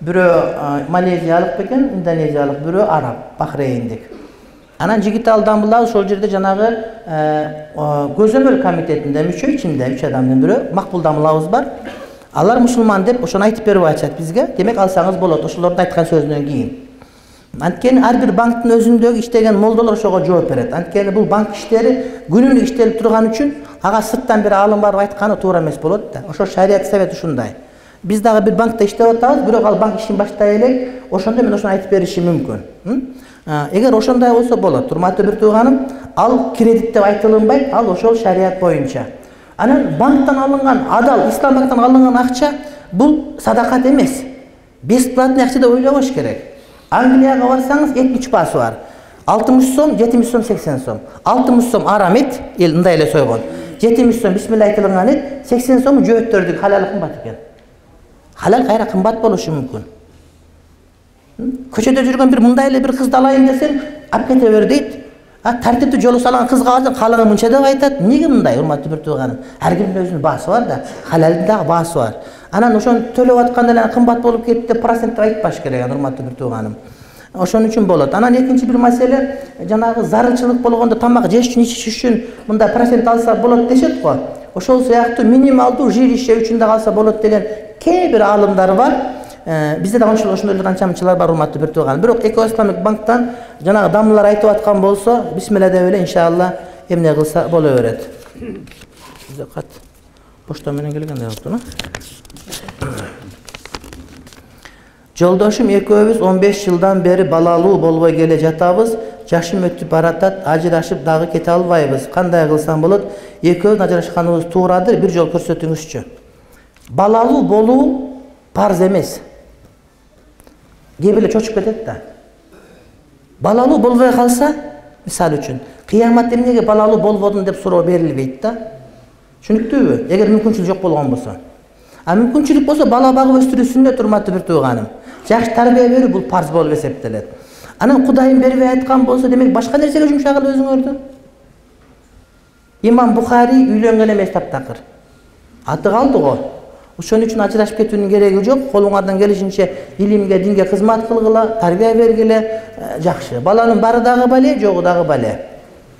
Бирөө малезиялык бекен, индонезиялык, бирөө араб, бахрейндик. Анан жигитал дамбылар ошол жерде жанагы көзөмөл комитетинде мүчө, ичинде үч адамдын бирөө макбул дамылабыз бар. Алар мусулман деп ошону айтып берип атышат бизге. Демек алсаңыз болот, ошолордун айткан сөзүнөн кийин. Анткени ар бир банктын өзүндөгү иштеген молдолор ошого жооп берет. Анткени бул банк иштери күнүнүк иштелип турган үчүн ага сырттан бир алым барып айтканы туура эмес болот да. Ошо шарият совет ушундай. Биз дагы бир банкта иштеп атабыз, бирок ал банк ишин баштай элек, ошондо мен ошону айтып беришим мүмкүн. Эгер ошондой болсо болот, урматтуу бир тууганым, ал кредит деп айтылынбайт, ал ошол шарият боюнча. Анан банктан алынган, адал ислам банктан алынган акча бул садакат эмес. Бесплатный акча деп ойлобош керек. Англияга барсаңыз жетимиш баасы бар. алтымыш сом, жетимиш сом, сексен сом. алтымыш сом арам эт, эл мындай эле сойгон. жетимиш сом бисмилла айтылган эт, сексен сом жөөттөрдүк халал кымбат экен. Халал кайра кымбат болушу мүмкүн. Көчөдө жүргөн бир мындай эле бир кызды алайын десең, алып кете бер дейт. А тартиптүү жолу салган кызга алсаң, калыгы мынча деп айтат. Эмнеге мындай, урматтуу бир тууганым? Ар кимдин өзүнүн баасы бар да, халалдын дагы баасы бар. Анан ошону төлөп атканда эле кымбат болуп кетти деп процент деп айтпаш керек, урматтуу бир тууганым. Ошон үчүн болот. Анан экинчи бир маселе, жанагы зарылчылык болгондо тамак жеш үчүн, ичиш үчүн мындай процент алса болот дешет го. Ошол сыяктуу минималдуу жилище үчүн да алса болот деген кээ бир алымдар бар. Бизде да ошондой канчамчылар бар, урматтуу бир тууган. Бирок Эко Исламик банктан жанагы дамлар айтып аткан болсо, бисмилла деп эле иншалла эмне кылса боло берет. Бизде кат почта менен келгендей болупту. Жолдошум экөөбүз он беш жылдан бери балалуу болбой келе жатабыз. Жашым өтүп баратат, ажырашып дагы кете албайбыз. Кандай кылсам болот? Экөөбүз ажырашканыбыз туурадыр, бир жол көрсөтүңүзчү. Балалуу болуу парз эмес. Кээ бирөө чочуп кетет да. Балалуу болбой калса, мисалы үчүн, кыяматта эмнеге балалуу болбодун деп суроо берилбейт да. Түшүнүктүүбү? Эгер мүмкүнчүлүк жок болгон болсо. А мүмкүнчүлүк болсо бала багып өстүрүү сүннөт, урматтуу бир тууганым. Жакшы тарбия берүү бул парз болуп эсептелет. Анан Кудайым бербей айткан болсо, демек башка нерсеге жумшагыла өзүңөрдү. Имам Бухари үйлөнгөн эмес таптакыр. Аты калды го. Ошон үчүн ажырашып кетүүнүн кереги жок. Колуңардан келишинче илимге, динге кызмат кылгыла, тарбия бергиле, жакшы. Баланын бары дагы бале, жогу дагы бале.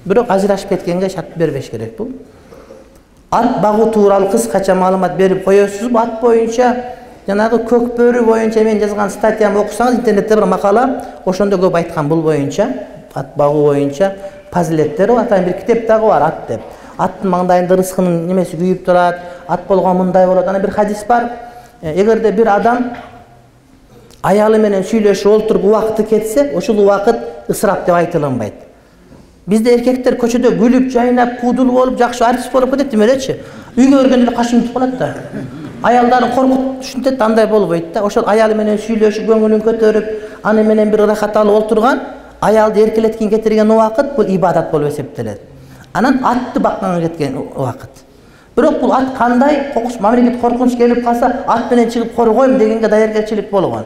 Бирок ажырашып кеткенге шарт бербеш керек бул. Ат багуу тууралуу кыскача маалымат берип коесузбу? Ат боюнча жанагы көк бөрү боюнча мен жазган статьямды окусаңыз, интернетте бир макала, ошондо көп айткан бул боюнча, ат багуу боюнча фазилеттери бар. Атайын бир китеп дагы бар, ат деп. Аттын маңдайында рызкынын немеси күйүп турат, ат болгон мындай болот. Ана бир хадис бар. Эгерде бир адам аялы менен сүйлөшүп олтуруп убакыты кетсе, ошол убакыт ысырап деп айтылынбайт. Бизде эркектер көчөдө күлүп, жайнап, куудул болуп, жакшы артист болуп кетет эме элечи. Үйгө киргенде эле кашым түп калат да. Аялдарын коркутуп түшүнтөт, андай болбойт да. Ошол аялы менен сүйлөшүп, көңүлүн көтөрүп, аны менен бир ырахат алып олтурган, аялды эркелеткин кетирген убакыт бул ибадат болуп эсептелет. Анан атты бакканга кеткен убакыт. Бирок бул ат кандай кокус мамлекет коркунуч келип калса, ат менен чыгып коргойм дегенге даяргерчилик болгон.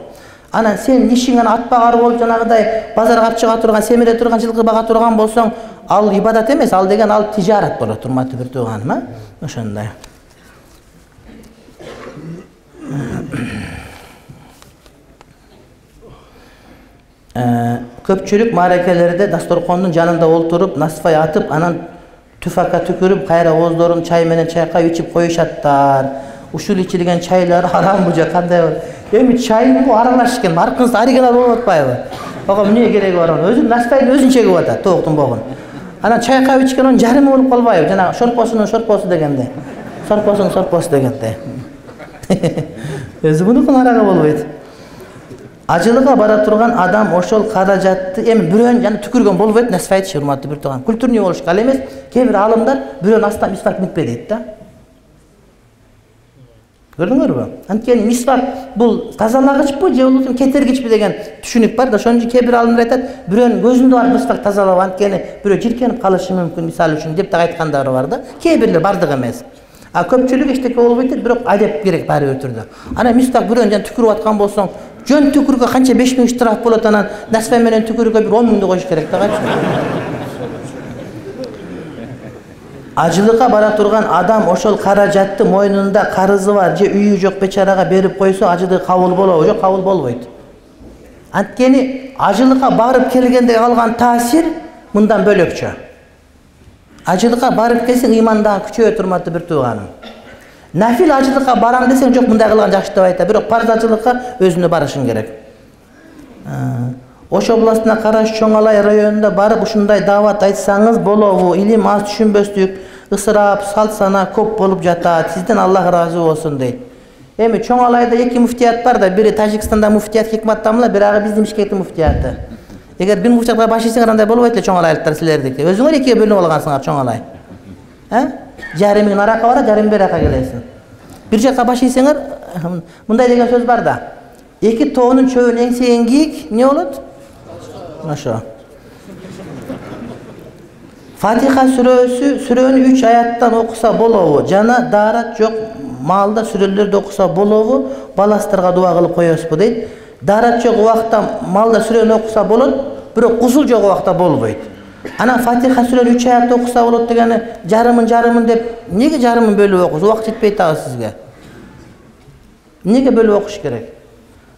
Анан сен ишиң ана ат багар болуп жанагыдай базарга алып чыга турган, семире турган, жылкы бага турган болсоң, ал ибадат эмес, ал деген ал тижарат болот, урматтуу бир тууганым, а? Ошондой. Көпчүлүк мааракелерде дасторкондун жанында олтуруп, насфай атып, анан түфака түкүрүп, кайра ооздорун чай менен чайкап ичип коюшаттар. Ушул ичилген чайлар харамбы же кандай болот? Эми чайын аралаш экен, аркыңыз оригинал болуп атпайбы? Ого эмне кереги бар анын? Өзүн насфайдын өзүн чегип атат, тооктун богун. Анан чайкап ичкен анын жарымы болуп калбайбы? Жана шорпосунун шорпосу дегенде. Сорпосунун сорпосу дегенде. Өзү мунукун арага болбойт. Ажылыга бара турган адам ошол каражатты эми бирөөнүн жана түкүргөн болбойт, насфайт урматтуу бир тууган. Культурный болуш ал эмес. Кээ бир алымдар бирөөнүн астынан мисвак микпе дейт да. Көрдүңөрбү? Анткени мисвак бул тазалагычпы же болбосо кетиргичпи деген түшүнүк бар да. Ошон үчүн кээ бир алымдар айтат, бирөөнүн көзүндө бар мисвак тазалап, анткени бирөө жиркенип калышы мүмкүн, мисалы үчүн деп да айткандары бар да. Кээ бирлер бардыгы эмес. А көпчүлүк эчтеке болбойт, бирок адеп керек баары бир түрдө. Ана мисвак бирөөнүн жана түкүрүп аткан болсоң, жөн түкүргө канча беш миң штраф болот, анан насфай менен түкүргө бир он миңди коюш керек да. Ажылыкка бара турган адам ошол каражатты мойнунда карызы бар же үйү жок бечарага берип койсо, ажылык кабыл болобу? Жок, кабыл болбойт. Анткени ажылыкка барып келгенде алган таасир мындан бөлөкчө. Ажылыкка барып келсең, ыйман дагы күчөйөт, урматтуу бир тууганым. Нафил ажылыкка барам десең, жок, мындай кылган жакшы деп айтат, бирок парз ажылыкка өзүнө барышың керек. Ош областына караш Чоң Алай районунда барып ушундай даават айтсаңыз болобу? Илим аз, түшүнбөстүк, ысырап, салт-сана көп болуп жатат. Сизден Аллах ыраазы болсун дейт. Эми Чоң Алайда эки муфтият бар да, бири Тажикстанда муфтият Хикмат Тамла, бирагы биздин Бишкектин муфтияты. Эгер бир муфтиятка баш ийсеңер, андай болбойт эле Чоң Алайлыктар силердики. Өзүңөр экиге бөлүнүп алгансыңар Чоң Алай. Э? Жарым миң аракка барат, жарым бир аракка келесиң. Бир жакка баш ийсеңер, мындай деген сөз бар да. Эки тоонун чөбүн эңсеген кийик эмне болот? Ошо. Фатиха сүрөсү сүрөнү үч аяттан окуса болобу? Жана даарат жок маалда сүрөлөрдү окуса болобу? Баластарга дуа кылып коесузбу дейт. Даарат жок убакта малда сүрөнү окуса болот, бирок кусул жок убакта болбойт. Анан Фатиха сүрөнү үч аятта окуса болот дегени жарымын жарымын деп, эмнеге жарымын бөлүп окуйсуз? Убакыт жетпейт дагы сизге. Эмнеге бөлүп окуш керек?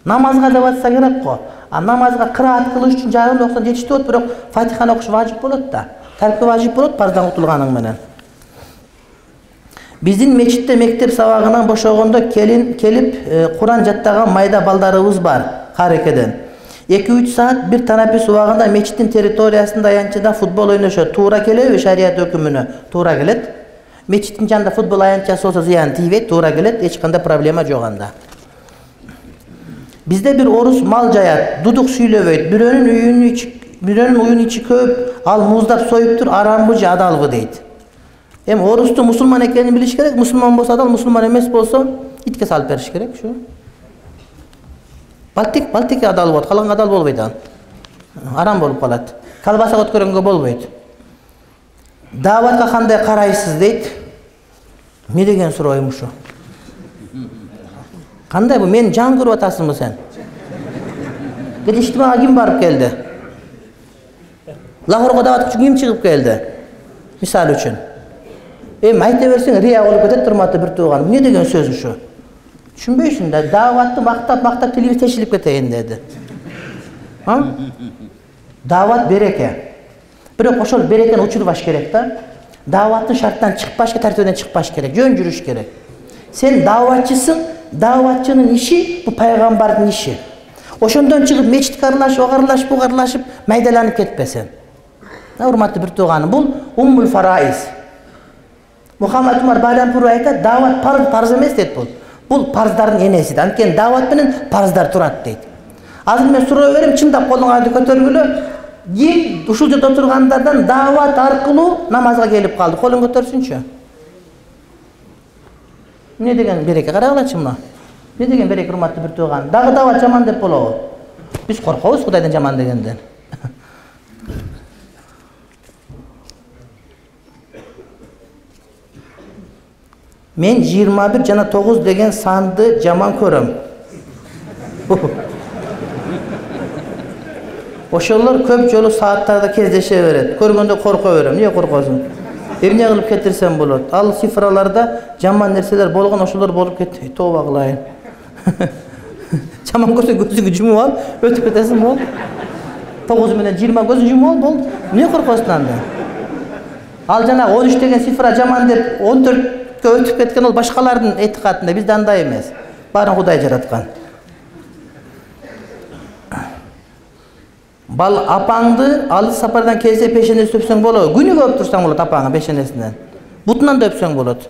Намазга деп атса керек го. А намазга кыраат кылыш үчүн жарымды окусаң жетиштүү болот, бирок Фатиханы окуш важип болот да. Таркы важип болот парздан утулганың менен. Биздин мечитте мектеп сабагынан бошогондо келин келип Куран жаттаган майда балдарыбыз бар, карекеден. эки үч саат бир танапес убагында мечиттин территориясында аянтчадан футбол ойношот. Туура келеби шарият өкүмүнө? Туура келет. Мечиттин жанында футбол аянтчасы болсо зыян тийбейт, туура келет, эч кандай проблема жок анда. Бизде бир орус мал жаят, дудук сүйлөбөйт. Бирөөнүн үйүнүн ичи, бирөөнүн уюн ичи көп, ал муздап союптур, арамбы же адалбы дейт. Эми орустун мусулман экенин билиш керек. Мусулман болсо адал, мусулман эмес болсо итке салып бериш керек, ушу. Балтик, балтик адал болот, калган адал болбойт анан. Арам болуп калат. Колбаса өткөрөнгө болбойт. Дааватка кандай карайсыз дейт. Эмне деген сурооюм ушу? Кандай бу? Мен жан көрүп атасыңбы сен? Кет иштимага ким барып келди? Лахорго даават үчүн ким чыгып келди? Мисалы үчүн. Эми айта берсең рия болуп кетет, урматтуу бир тууган. Эмне деген сөз ушу? Түшүнбөйсүң да, даватты мактап мактап тилибиз тешилип кетейин деди. А? Дават береке. Бирок ошол берекени учурбаш керек да. Даваттын шарттан чыкпаш керек, тартибинен чыкпаш керек, жөн жүрүш керек. Сен даватчысың, даватчынын иши бу пайгамбардын иши. Ошондон чыгып мечитке аралашып, огарылашып, бугарылашып, майдаланып кетпесең. Урматтуу бир тууганым, бул уммул фараиз. Мухаммад Умар Байрампур айтат, дават парыз, парыз эмес дейт бул. Бул парыздардын энеси. Анткени дават менен парыздар турат дейт. Азыр мен суроо берем, чындап колуңарды көтөргүлө. Ким ушул жерде отургандардан дават аркылуу намазга келип калды? Колун көтөрсүнчү. Эмне деген береке? Карагылачы мына. Эмне деген береке, урматтуу бир тууган? Дагы дават жаман деп болобу? Биз коркобуз Кудайдан жаман дегенден. Мен жыйырма бир жана тогуз деген санды жаман көрөм. Ошолор көп жолу сааттарда кездеше берет. Көргөндө корко берем. Эмне коркосуң? Эмне кылып кетирсем болот? Ал цифраларда жаман нерселер болгон, ошолор болуп кетти. Тооба кылайын. Жаман көрсөң көзүңдү жумуп ал, өтүп кетесиң бол. тогуз менен жыйырма көзүн жумуп ал бол. Эмне коркосуң анда? Ал жана он үч деген цифра жаман деп он төрткө өтүп кеткен ол башкалардын этикадында, бизде андай эмес. Баарын Кудай жараткан. Бал апаңды алыс сапардан келсе пешенеси өпсөң болот. Күнү көп турсаң болот апаңы пешенесинен. Бутунан да өпсөң болот.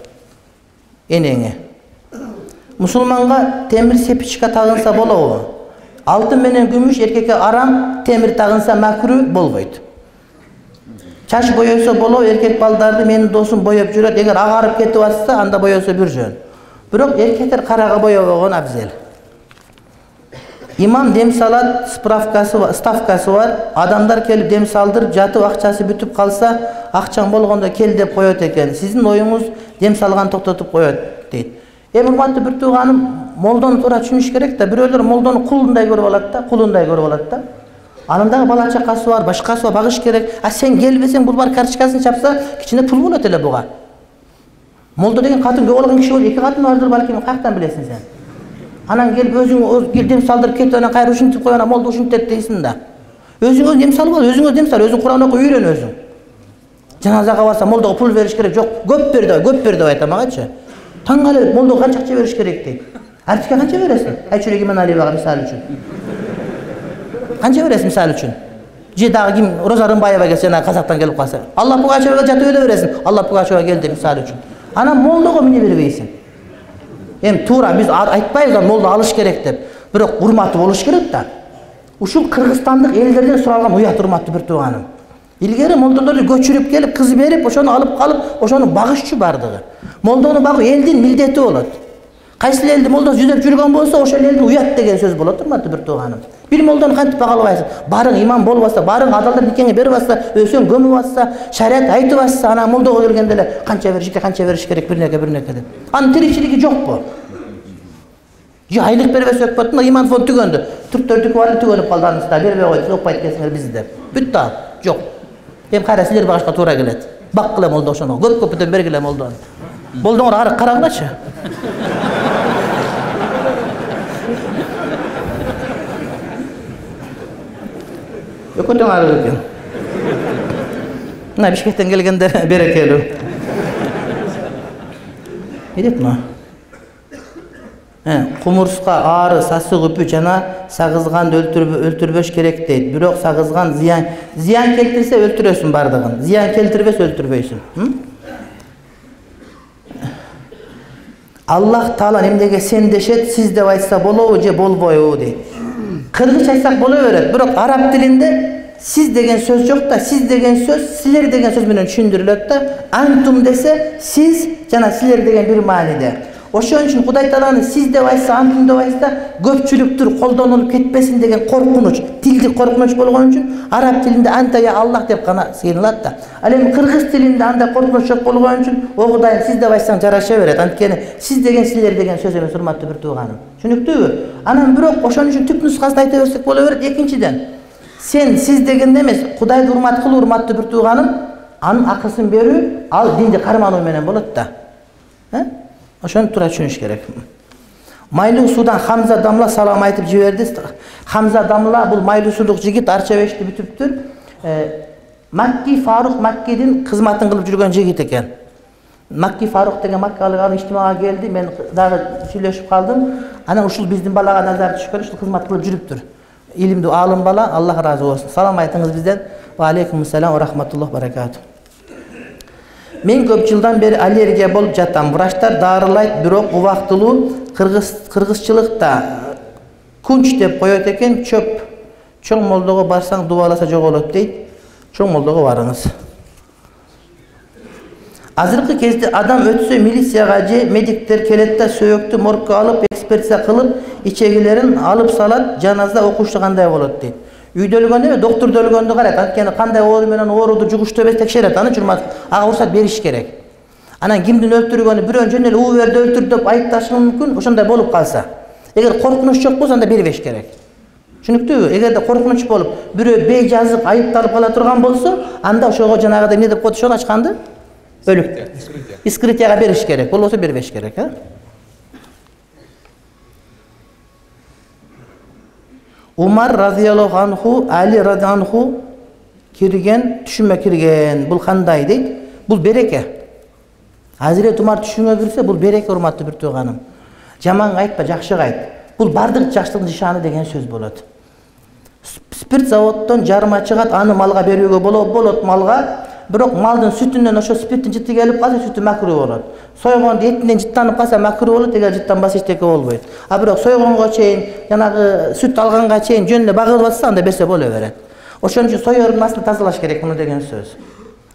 Энеңе. Мусулманга темир сепичка тагынса болобу? Алтын менен күмүш эркекке арам, темир тагынса макру болбойт. Чач боёсо болобу, эркек балдарды менин досум боёп жүрөт. Эгер агарып кетип атса, анда боёсо бир жөн. Бирок эркектер карага боёбогон абзел. Имам дем салат, справкасы бар, ставкасы бар. Адамдар келип дем салдырып, жатып акчасы бүтүп калса, акчаң болгондо кел деп коёт экен. Сиздин оюңуз дем салган токтотуп коёт дейт. Эми урматтуу бир тууганым, молдону туура түшүнүш керек да. Бирөөлөр молдону кулундай көрүп алат да, кулундай көрүп алат да. Анын дагы бала чакасы бар, башкасы бар, багыш керек. А сен келбесең, бул бар карточкасын чапса, кичине пул болот эле буга. Молдо деген катын көп болгон киши болот, эки катын бардыр балким, каяктан билесиң сен? Анан келип өзүң кел дем салдырып кетип, анан кайра ушинтип коюп, анан молдо ушинтет дейсиң да. Өзүңөз дем салып ал, өзүңөз дем сал, өзүң Куран окуп үйрөн өзүң. Жаназага барса молдого пул бериш керек, жок, көп бер деп, көп бер деп айтам агачы. Таң калып, молдого канча акча бериш керек дейт. Артикке канча бересиң? Айчүрек Иманалиевага мисал үчүн. Канча бересиң мисал үчүн? Же дагы ким Роза Рымбаева келсе, ана Казактан келип калса, Алла Пугачевага жатып эле бересиң. Алла Пугачева келди мисал үчүн. Анан молдого эмне бербейсиң? Эми туура биз айтпайбыз, молдо алыш керек деп. Бирок урматы болуш керек да. Ушул кыргызстандык элдерден суралган уят, урматтуу бир тууганым. Илгери молдолорду көчүрүп келип, кыз берип, ошону алып калып, ошону багышчу бардыгы. Молдону багуу элдин милдети болот. Кайсы элди молдо жүзөп жүргөн болсо, ошол элдин уят деген сөз болот, урматтуу бир тууганым. Бир молдону кантип багалабайсың? Барың имам болуп атса, барың адалдар никеңе берип атса, өсөң көмүп атса, шариат айтып атса, ана молдого келгенде эле канча бериш керек, канча бериш керек, бир неке, бир неке деп. Анын тиричилиги жокпу? Же айлык бербесе өкмөт, мына иман фонд түгөндү. Түрктөрдүкү бар эле түгөнүп калды, анысы бербей койду, окпайт экенсиңер бизди деп. Бүттү ал. Жок. Эми кайра силер багышка туура келет. Баккыла молдо ошону, көп-көптөн бергиле молдону. Молдоңор ары карагылачы. Өкөтөң ары экен. Мына Бишкектен келгенде берекелүү. Эдет мына. Кумурска ары, сасык үпү жана сагызганды өлтүрбөш керек дейт. Бирок сагызган зыян зыян келтирсе өлтүрөсүң бардыгын. Зыян келтирбесе өлтүрбөйсүң. Аллах Таала эмнеге сен дешет, сиз деп айтса болобу же болбойбу дейт. Кыргызча айтсак боло берет, бирок араб тилинде сиз деген сөз жок да, сиз деген сөз силер деген сөз менен түшүндүрүлөт да. Антум десе сиз жана силер деген бир мааниде. Ошон үчүн Кудай Тааланы сиз деп айтса, антум деп айтса, көпчүлүктүр колдонулуп кетпесин деген коркунуч, тилдик коркунуч болгон үчүн араб тилинде антая Аллах деп гана сыйынылат да. Ал эми кыргыз тилинде андай коркунуч жок болгон үчүн о Кудайым сиз деп айтсаң жараша берет. Анткени сиз деген силер деген сөз эмес, урматтуу бир тууганым. Түшүнүктүүбү? Анан бирок ошон үчүн түп нускасын айта берсек боло берет. Экинчиден, сен сиз дегенде эмес, Кудайды урмат кылуу, урматтуу бир тууганым, анын акысын берүү, ал динди кармануу менен болот да. Ошону туура түшүнүш керек. Майлуу суудан Хамза Дамла салам айтып жиберди. Хамза Дамла бул майлуу суудук жигит Арчабешти бүтүптүр. Макки Фарук Маккидин кызматын кылып жүргөн жигит экен. Макки Фарук деген маккалык аны иштимага келди. Мен дагы сүйлөшүп калдым. Анан ушул биздин балага назар түшкөн, ушул кызмат кылып жүрүптүр. Илимдүү алым бала, Аллах ыраазы болсун. Салам айтыңыз бизден. Ва алейкум ассалам ва рахматуллах баракату. Мен көп жылдан бери аллергия болуп жатам. Врачтар дарылайт, бирок убактылуу кыргыз кыргызчылыкта кунч деп коет экен. Чөп чоң молдого барсаң дубаласа жоголот дейт. Чоң молдого барыңыз. Азыркы кезде адам өтсө милицияга же медиктер келет да сөөктү моргко алып экспертиза кылып, ичегилерин алып салат, жаназа окушу кандай болот дейт. Үйдө өлгөндө эме, доктурда өлгөндө карайт. Анткени кандай оору менен ооруду жугуштуу эмес текшерет. Аны журмат, ага уруксат бериш керек. Анан кимдин өлтүргөнү бирөө жөн эле уу берди өлтүрдү деп айыпташы мүмкүн, ошондой болуп калса. Эгер коркунуч жок болсо анда бербеш керек. Түшүнүктүүбү? Эгерде коркунуч болуп, бирөө бейжазык айыпталып кала турган болсо, анда ошого жанагыдай эмне деп коет ошону ачканды? Өлүк. Искритияга бериш керек. Болбосо бербеш керек, а? Умар радияллаху анху, Али радияллаху анху кирген, түшүмө кирген. Бул кандай дейт? Бул береке. Азирет Умар түшүмө кирсе, бул береке, урматтуу бир тууганым. Жаманга айтпа, жакшыга айт. Бул бардык жакшылыктын нишаны деген сөз болот. Спирт заводдон жарма чыгат, аны малга берүүгө болот, болот малга. Бирок малдын сүтүнөн ошо спирттин жыты келип калса, сүтү макруу болот. Сойгондо этинен жыттанып калса макруу болот, эгер жыттанбаса эчтеке болбойт. А бирок сойгонго чейин, жанагы сүт алганга чейин жөн эле багылып атса, анда берсе боло берет. Ошон үчүн соёрдун астын тазалаш керек муну деген сөз.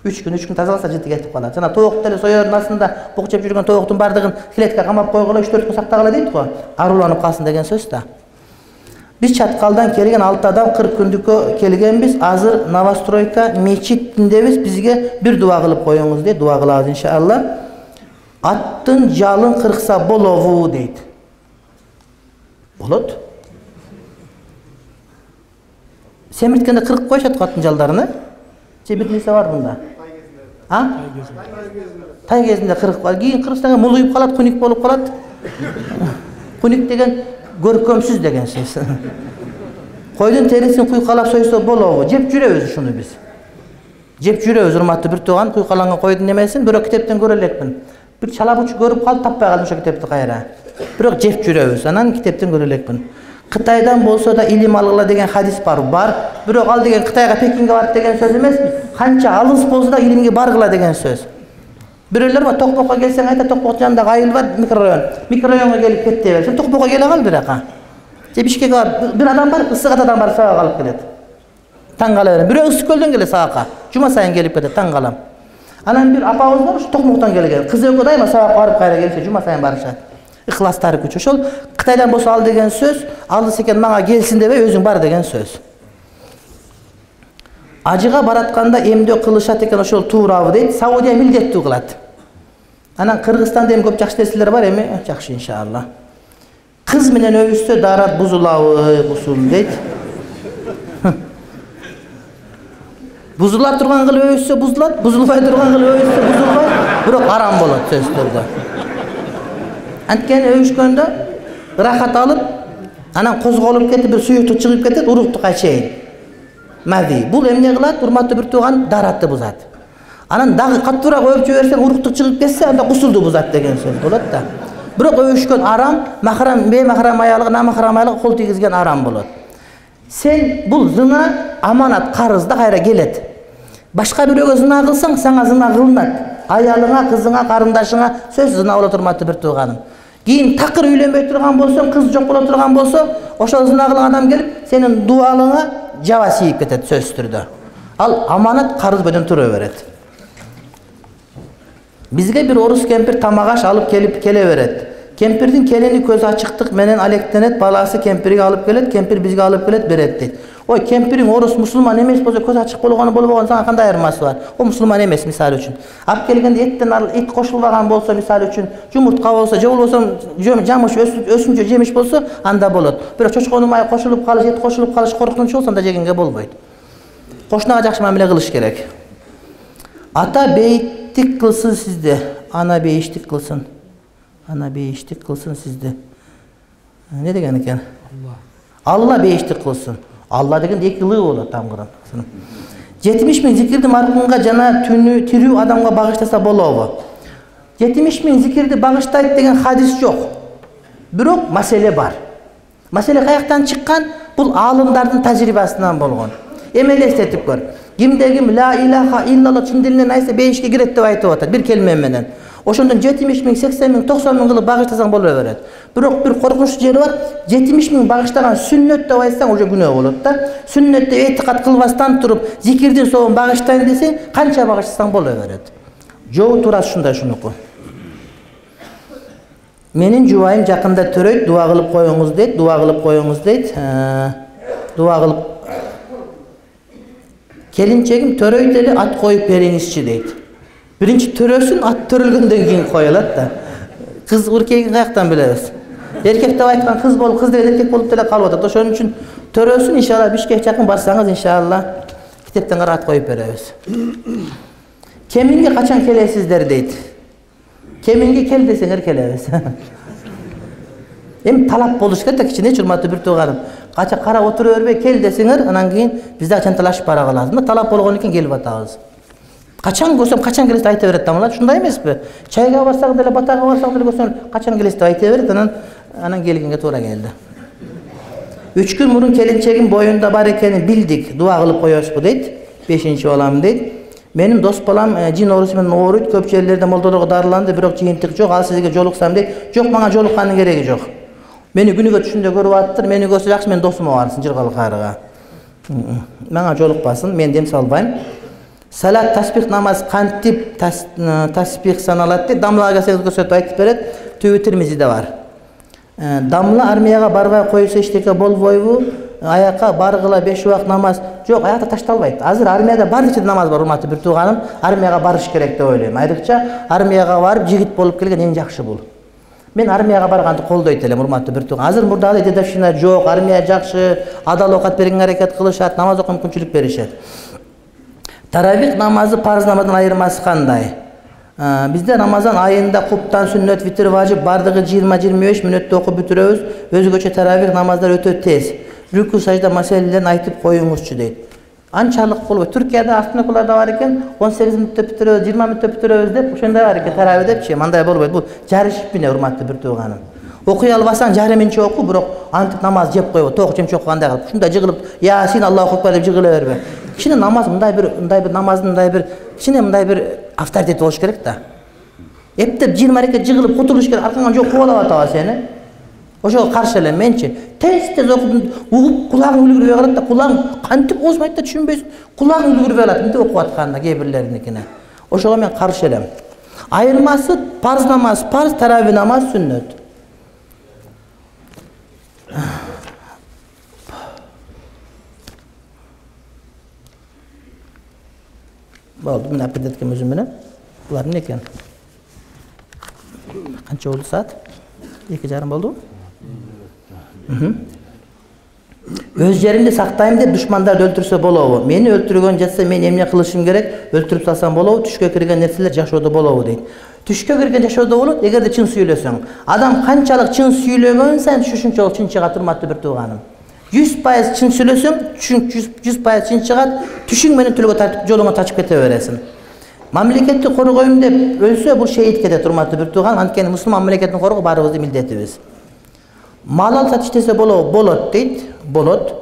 үч күн, үч күн тазаласа жыты кетип калат. Жана тоокто эле соёрдун астында бук жеп жүргөн тооктун бардыгын клетка камап койгула, үч төрт күн сактагыла дейт го. Аруланып калсын деген сөз да. Биз чаткалдан келген алты адам кырк күндүккө келгенбиз. Азыр Новостройка мечитиндебиз. Бизге бир дуа кылып коюңуз дейт. Дуа кылабыз иншалла. Аттын жалын кыркса болобу дейт. Болот. Семирткенде кыркып коюшат аттын жалдарын, э? Же бир нерсе бар мында? А? Тай кезинде кыркып калат. Кийин кырксаң мулуйуп калат, куник болуп калат. Куник деген көркөмсүз деген сөз. Койдун терисин куйкалап сойсо болобу? Жеп жүрөбүз ушуну биз. Жеп жүрөбүз, урматтуу бир тууган, куйкаланган койдун немесин бирок китептен көрө элекмин. Бир чалабуч көрүп калып таппай калдым ошо китепти кайра. Бирок жеп жүрөбүз, анан китептен көрө элекмин. Кытайдан болсо да илим алгыла деген хадис бар. Бар, бирок ал деген Кытайга, Пекинге барып деген сөз эмес. Канча алыс болсо да илимге баргыла деген сөз. Бирөөлөр бар, Токмокко келсең айта, Токмок жанында айыл бар, микрорайон. Микрорайонго келип кетти бер. Сен Токмокко келе кал бирака. Же Бишкекке бар, бир адам бар, Ысык Атадан бар сабак алып келет. Таң кала берем. Бирөө Ысык Көлдөн келет сабакка. Жума сайын келип кетет, таң калам. Анан бир апабыз бар, ушу Токмоктон келген. Кызы экөө дайыма сабак барып кайра келсе, жума сайын барышат. Ихластары күч. Ошол Кытайдан болсо ал деген сөз, алыс экен мага келсин дебей, өзүң бар деген сөз. Ажыга баратканда эмдөө кылышат экен, ошол туурабы дейт. Саудия милдеттүү кылат. Анан Кыргызстанда эми көп жакшы нерселер бар эми, жакшы иншалла. Кыз менен өбүшсө дарат бузулабы, бузул дейт. Бузула турган кылып өбүшсө бузулат, бузулбай турган кылып өбүшсө бузулбайт, бирок арам болот сөз түрдө. Анткени өбүшкөндө ырахат алып, анан козголуп кетип, бир суюктук чыгып кетет, уруктукка чейин. Мади. Бул эмне кылат? Урматтуу бир тууган, даратты бузат. Анан дагы каттуураак өбүп жиберсең, уруктук чыгып кетсе, анда гусулду бузат деген сөз болот да. Бирок өбүшкөн арам, махрам, беймахрам аялыгы, намахрам аялыгы кол тийгизген арам болот. Сен бул зына аманат, карыз да кайра келет. Башка бирөөгө зына кылсаң, сага зына кылынат. Аялыңа, кызыңа, карындашыңа сөз зына болот, урматтуу бир тууганым. Кийин такыр үйлөнбөй турган болсоң, кыз жок боло турган болсо, ошол зына кылган адам келип, сенин дуалыңа жаба сийип кетет сөз түрдө. Ал аманат карыз менен тура берет. Бизге бир орус кемпир тамак аш алып келип келе берет. Кемпирдин келини көз ачыктык менен алектенет, баласы кемпирге алып келет, кемпир бизге алып келет, берет дейт. Ой, кемпириң орус мусулман эмес болсо, көз ачык болгону болбогону сага кандай айырмасы бар? О мусулман эмес мисалы үчүн. Алып келгенде эттен эт кошулбаган болсо, мисалы үчүн, жумуртка болсо, же болбосо жамыш өсүнчө жемиш болсо, анда болот. Бирок чочконун май кошулуп калыш, эт кошулуп калыш коркунучу болсо, анда жегенге болбойт. Кошунага жакшы мамиле кылыш керек. Ата бейиттик кылсын сизде, ана бейиштик кылсын. Ана бейиштик кылсын сизде. Не деген экен? Алла бейиштик кылсын. Алла деген эки лы болот там Куран. жетимиш миң зикирди маркумга жана түнү тирүү адамга багыштаса болобу? жетимиш миң зикирди багыштайт деген хадис жок. Бирок маселе бар. Маселе каяктан чыккан? Бул аалымдардын тажрыйбасынан болгон. Эми элестетип көр. Кимде ким ла илаха иллаллах чын дилинен айтса бейишке кирет деп айтып атат бир келме менен. Ошондон жетимиш миң, сексен миң, токсон миң кылып багыштасаң боло берет. Бирок бир коркунучтуу жери бар. жетимиш миң багыштаган сүннөт деп айтсаң уже күнөө болот да. Сүннөт деп этикат кылбастан туруп, зикирдин соон багыштайм десең, канча багыштасаң боло берет. Жоо турат ушундай шунуку. Менин жубайым жакында төрөйт, дуа кылып коюңуз дейт, дуа кылып коюңуз дейт. Дуа кылып келинчегим төрөйт эле ат коюп бериңизчи дейт. Биринчи төрөсүн, ат төрөлгөндөн кийин коёлот да. Кыз уркегин каяктан билебиз? Эркек деп айткан кыз болуп, кыз деген эркек болуп деле калып атат. Ошон үчүн төрөсүн иншалла Бишкек жакын барсаңыз иншалла китептен карап ат коюп беребиз. Кеминге качан келесиздер дейт. Кеминге кел десеңер келебиз. Эми талап болуш керек да кичине урматтуу бир тууганым. Кача карап отура бербей кел десеңер, анан кийин биз да чанталашып бара калабыз. Мына талап болгон экен келип атабыз. Качан көрсөм качан келесиз айта берет тамала, ушундай эмеспи? Чайга барсак деле, батага барсак деле көрсөң качан келесиз деп айта берет, анан анан келгенге туура келди. үч күн мурун келинчегим боюнда бар экенин билдик. Дуа кылып коесузбу дейт. бешинчи балам дейт. Менин дос балам жин оорусу менен ооруйт, көп жерлерде молдолорго дарыланды, бирок жыйынтык жок. Ал сизге жолуксам дейт. Жок, мага жолуккандын кереги жок. Мени күнүгө түшүндө көрүп аттыр, мени көрсө жакшы, мен досума барсын жыргалы кайрыга. Мага жолукпасын, мен дем салбайм. Салат, таспих намаз кантип таспих саналат дейт. Дамлага келсеңиз көрсөтүп айтып берет. Түбү Тирмизиде бар. Дамла армияга барбай койсо эчтеке болбойбу? Аякка баргыла беш убак намаз. Жок, аякта ташталбайт. Азыр армияда бар нече намаз бар, урматтуу бир тууганым. Армияга барыш керек деп ойлойм. Айрыкча армияга барып жигит болуп келген эң жакшы бул. Мен армияга барганды колдойт элем, урматтуу бир тууган. Азыр мурдагы дедовщина жок, армия жакшы, адал оокат бергенге аракет кылышат, намаз окуп мүмкүнчүлүк беришет. Таравих намазы парыз намаздан айырмасы кандай? Бизде Рамазан айында куптан, сүннөт, витр, важип бардыгы жыйырма жыйырма беш мүнөттө окуп бүтүрөбүз. Өзгөчө таравих намаздар өтө тез. Рүкү сажда маселелерин айтып коюңузчу дейт. Анчалык болбойт. Түркияда автонокуларда бар экен, он сегиз мүнөттө бүтүрөбүз, жыйырма мүнөттө бүтүрөбүз деп, ошондой бар экен таравих депчи. Мындай болбойт. Бул жарышып мене, урматтуу бир тууганым. Окуй албасаң жарымынча оку, бирок антип намаз жеп койбо. Ток жемче окугандай кылып, ушундай жыгылып, Ясин, Аллаху акбар деп жыгыла бербе. Кичине намаз мындай бир, мындай бир намаздын мындай бир, кичине мындай бир авторитет болуш керек да. Эптеп жыйырма рекет жыгылып кутулуш керек, аркаңан жок кубалап атабы сени. Ошого каршы элем менчи. Тез-тез окуп, угуп кулагың үлгүрбөй калат да, кулагың кантип озмайт да түшүнбөйсүң. Кулагың үлгүрбөй калат, мынтип окуп атканда кээ бирлериникине. Ошого мен каршы элем. Айырмасы парыз намаз, парыз, таравих намаз, сүннөт. Болду, мына аппетиткем өзүм менен. Булар эмне экен? Канча болду саат? эки жарым болду? Өз жеримди сактайм деп душмандарды өлтүрсө болобу? Мени өлтүргөн жатса мен эмне кылышым керек? Өлтүрүп салсам болобу? Түшкө кирген нерселер жашоодо болобу дейт. Түшкө кирген жашоодо болот, эгерде чын сүйлөсөң. Адам канчалык чын сүйлөгөн сайын ушунчалык чын чыгат, урматтуу бир тууганым. жүз пайыз чын сүйлөсөң, жүз пайыз чын чыгат, түшүң менен төлгө тартып жолуңа тачып кете бересиң. Мамлекетти коргойм деп өлсө бул шейит кетет, урматтуу бир тууган. Анткени мусулман мамлекетин коргоо баарыбыздын милдетибиз. Мал алып сатып иштесе болобу? Болот дейт. Болот.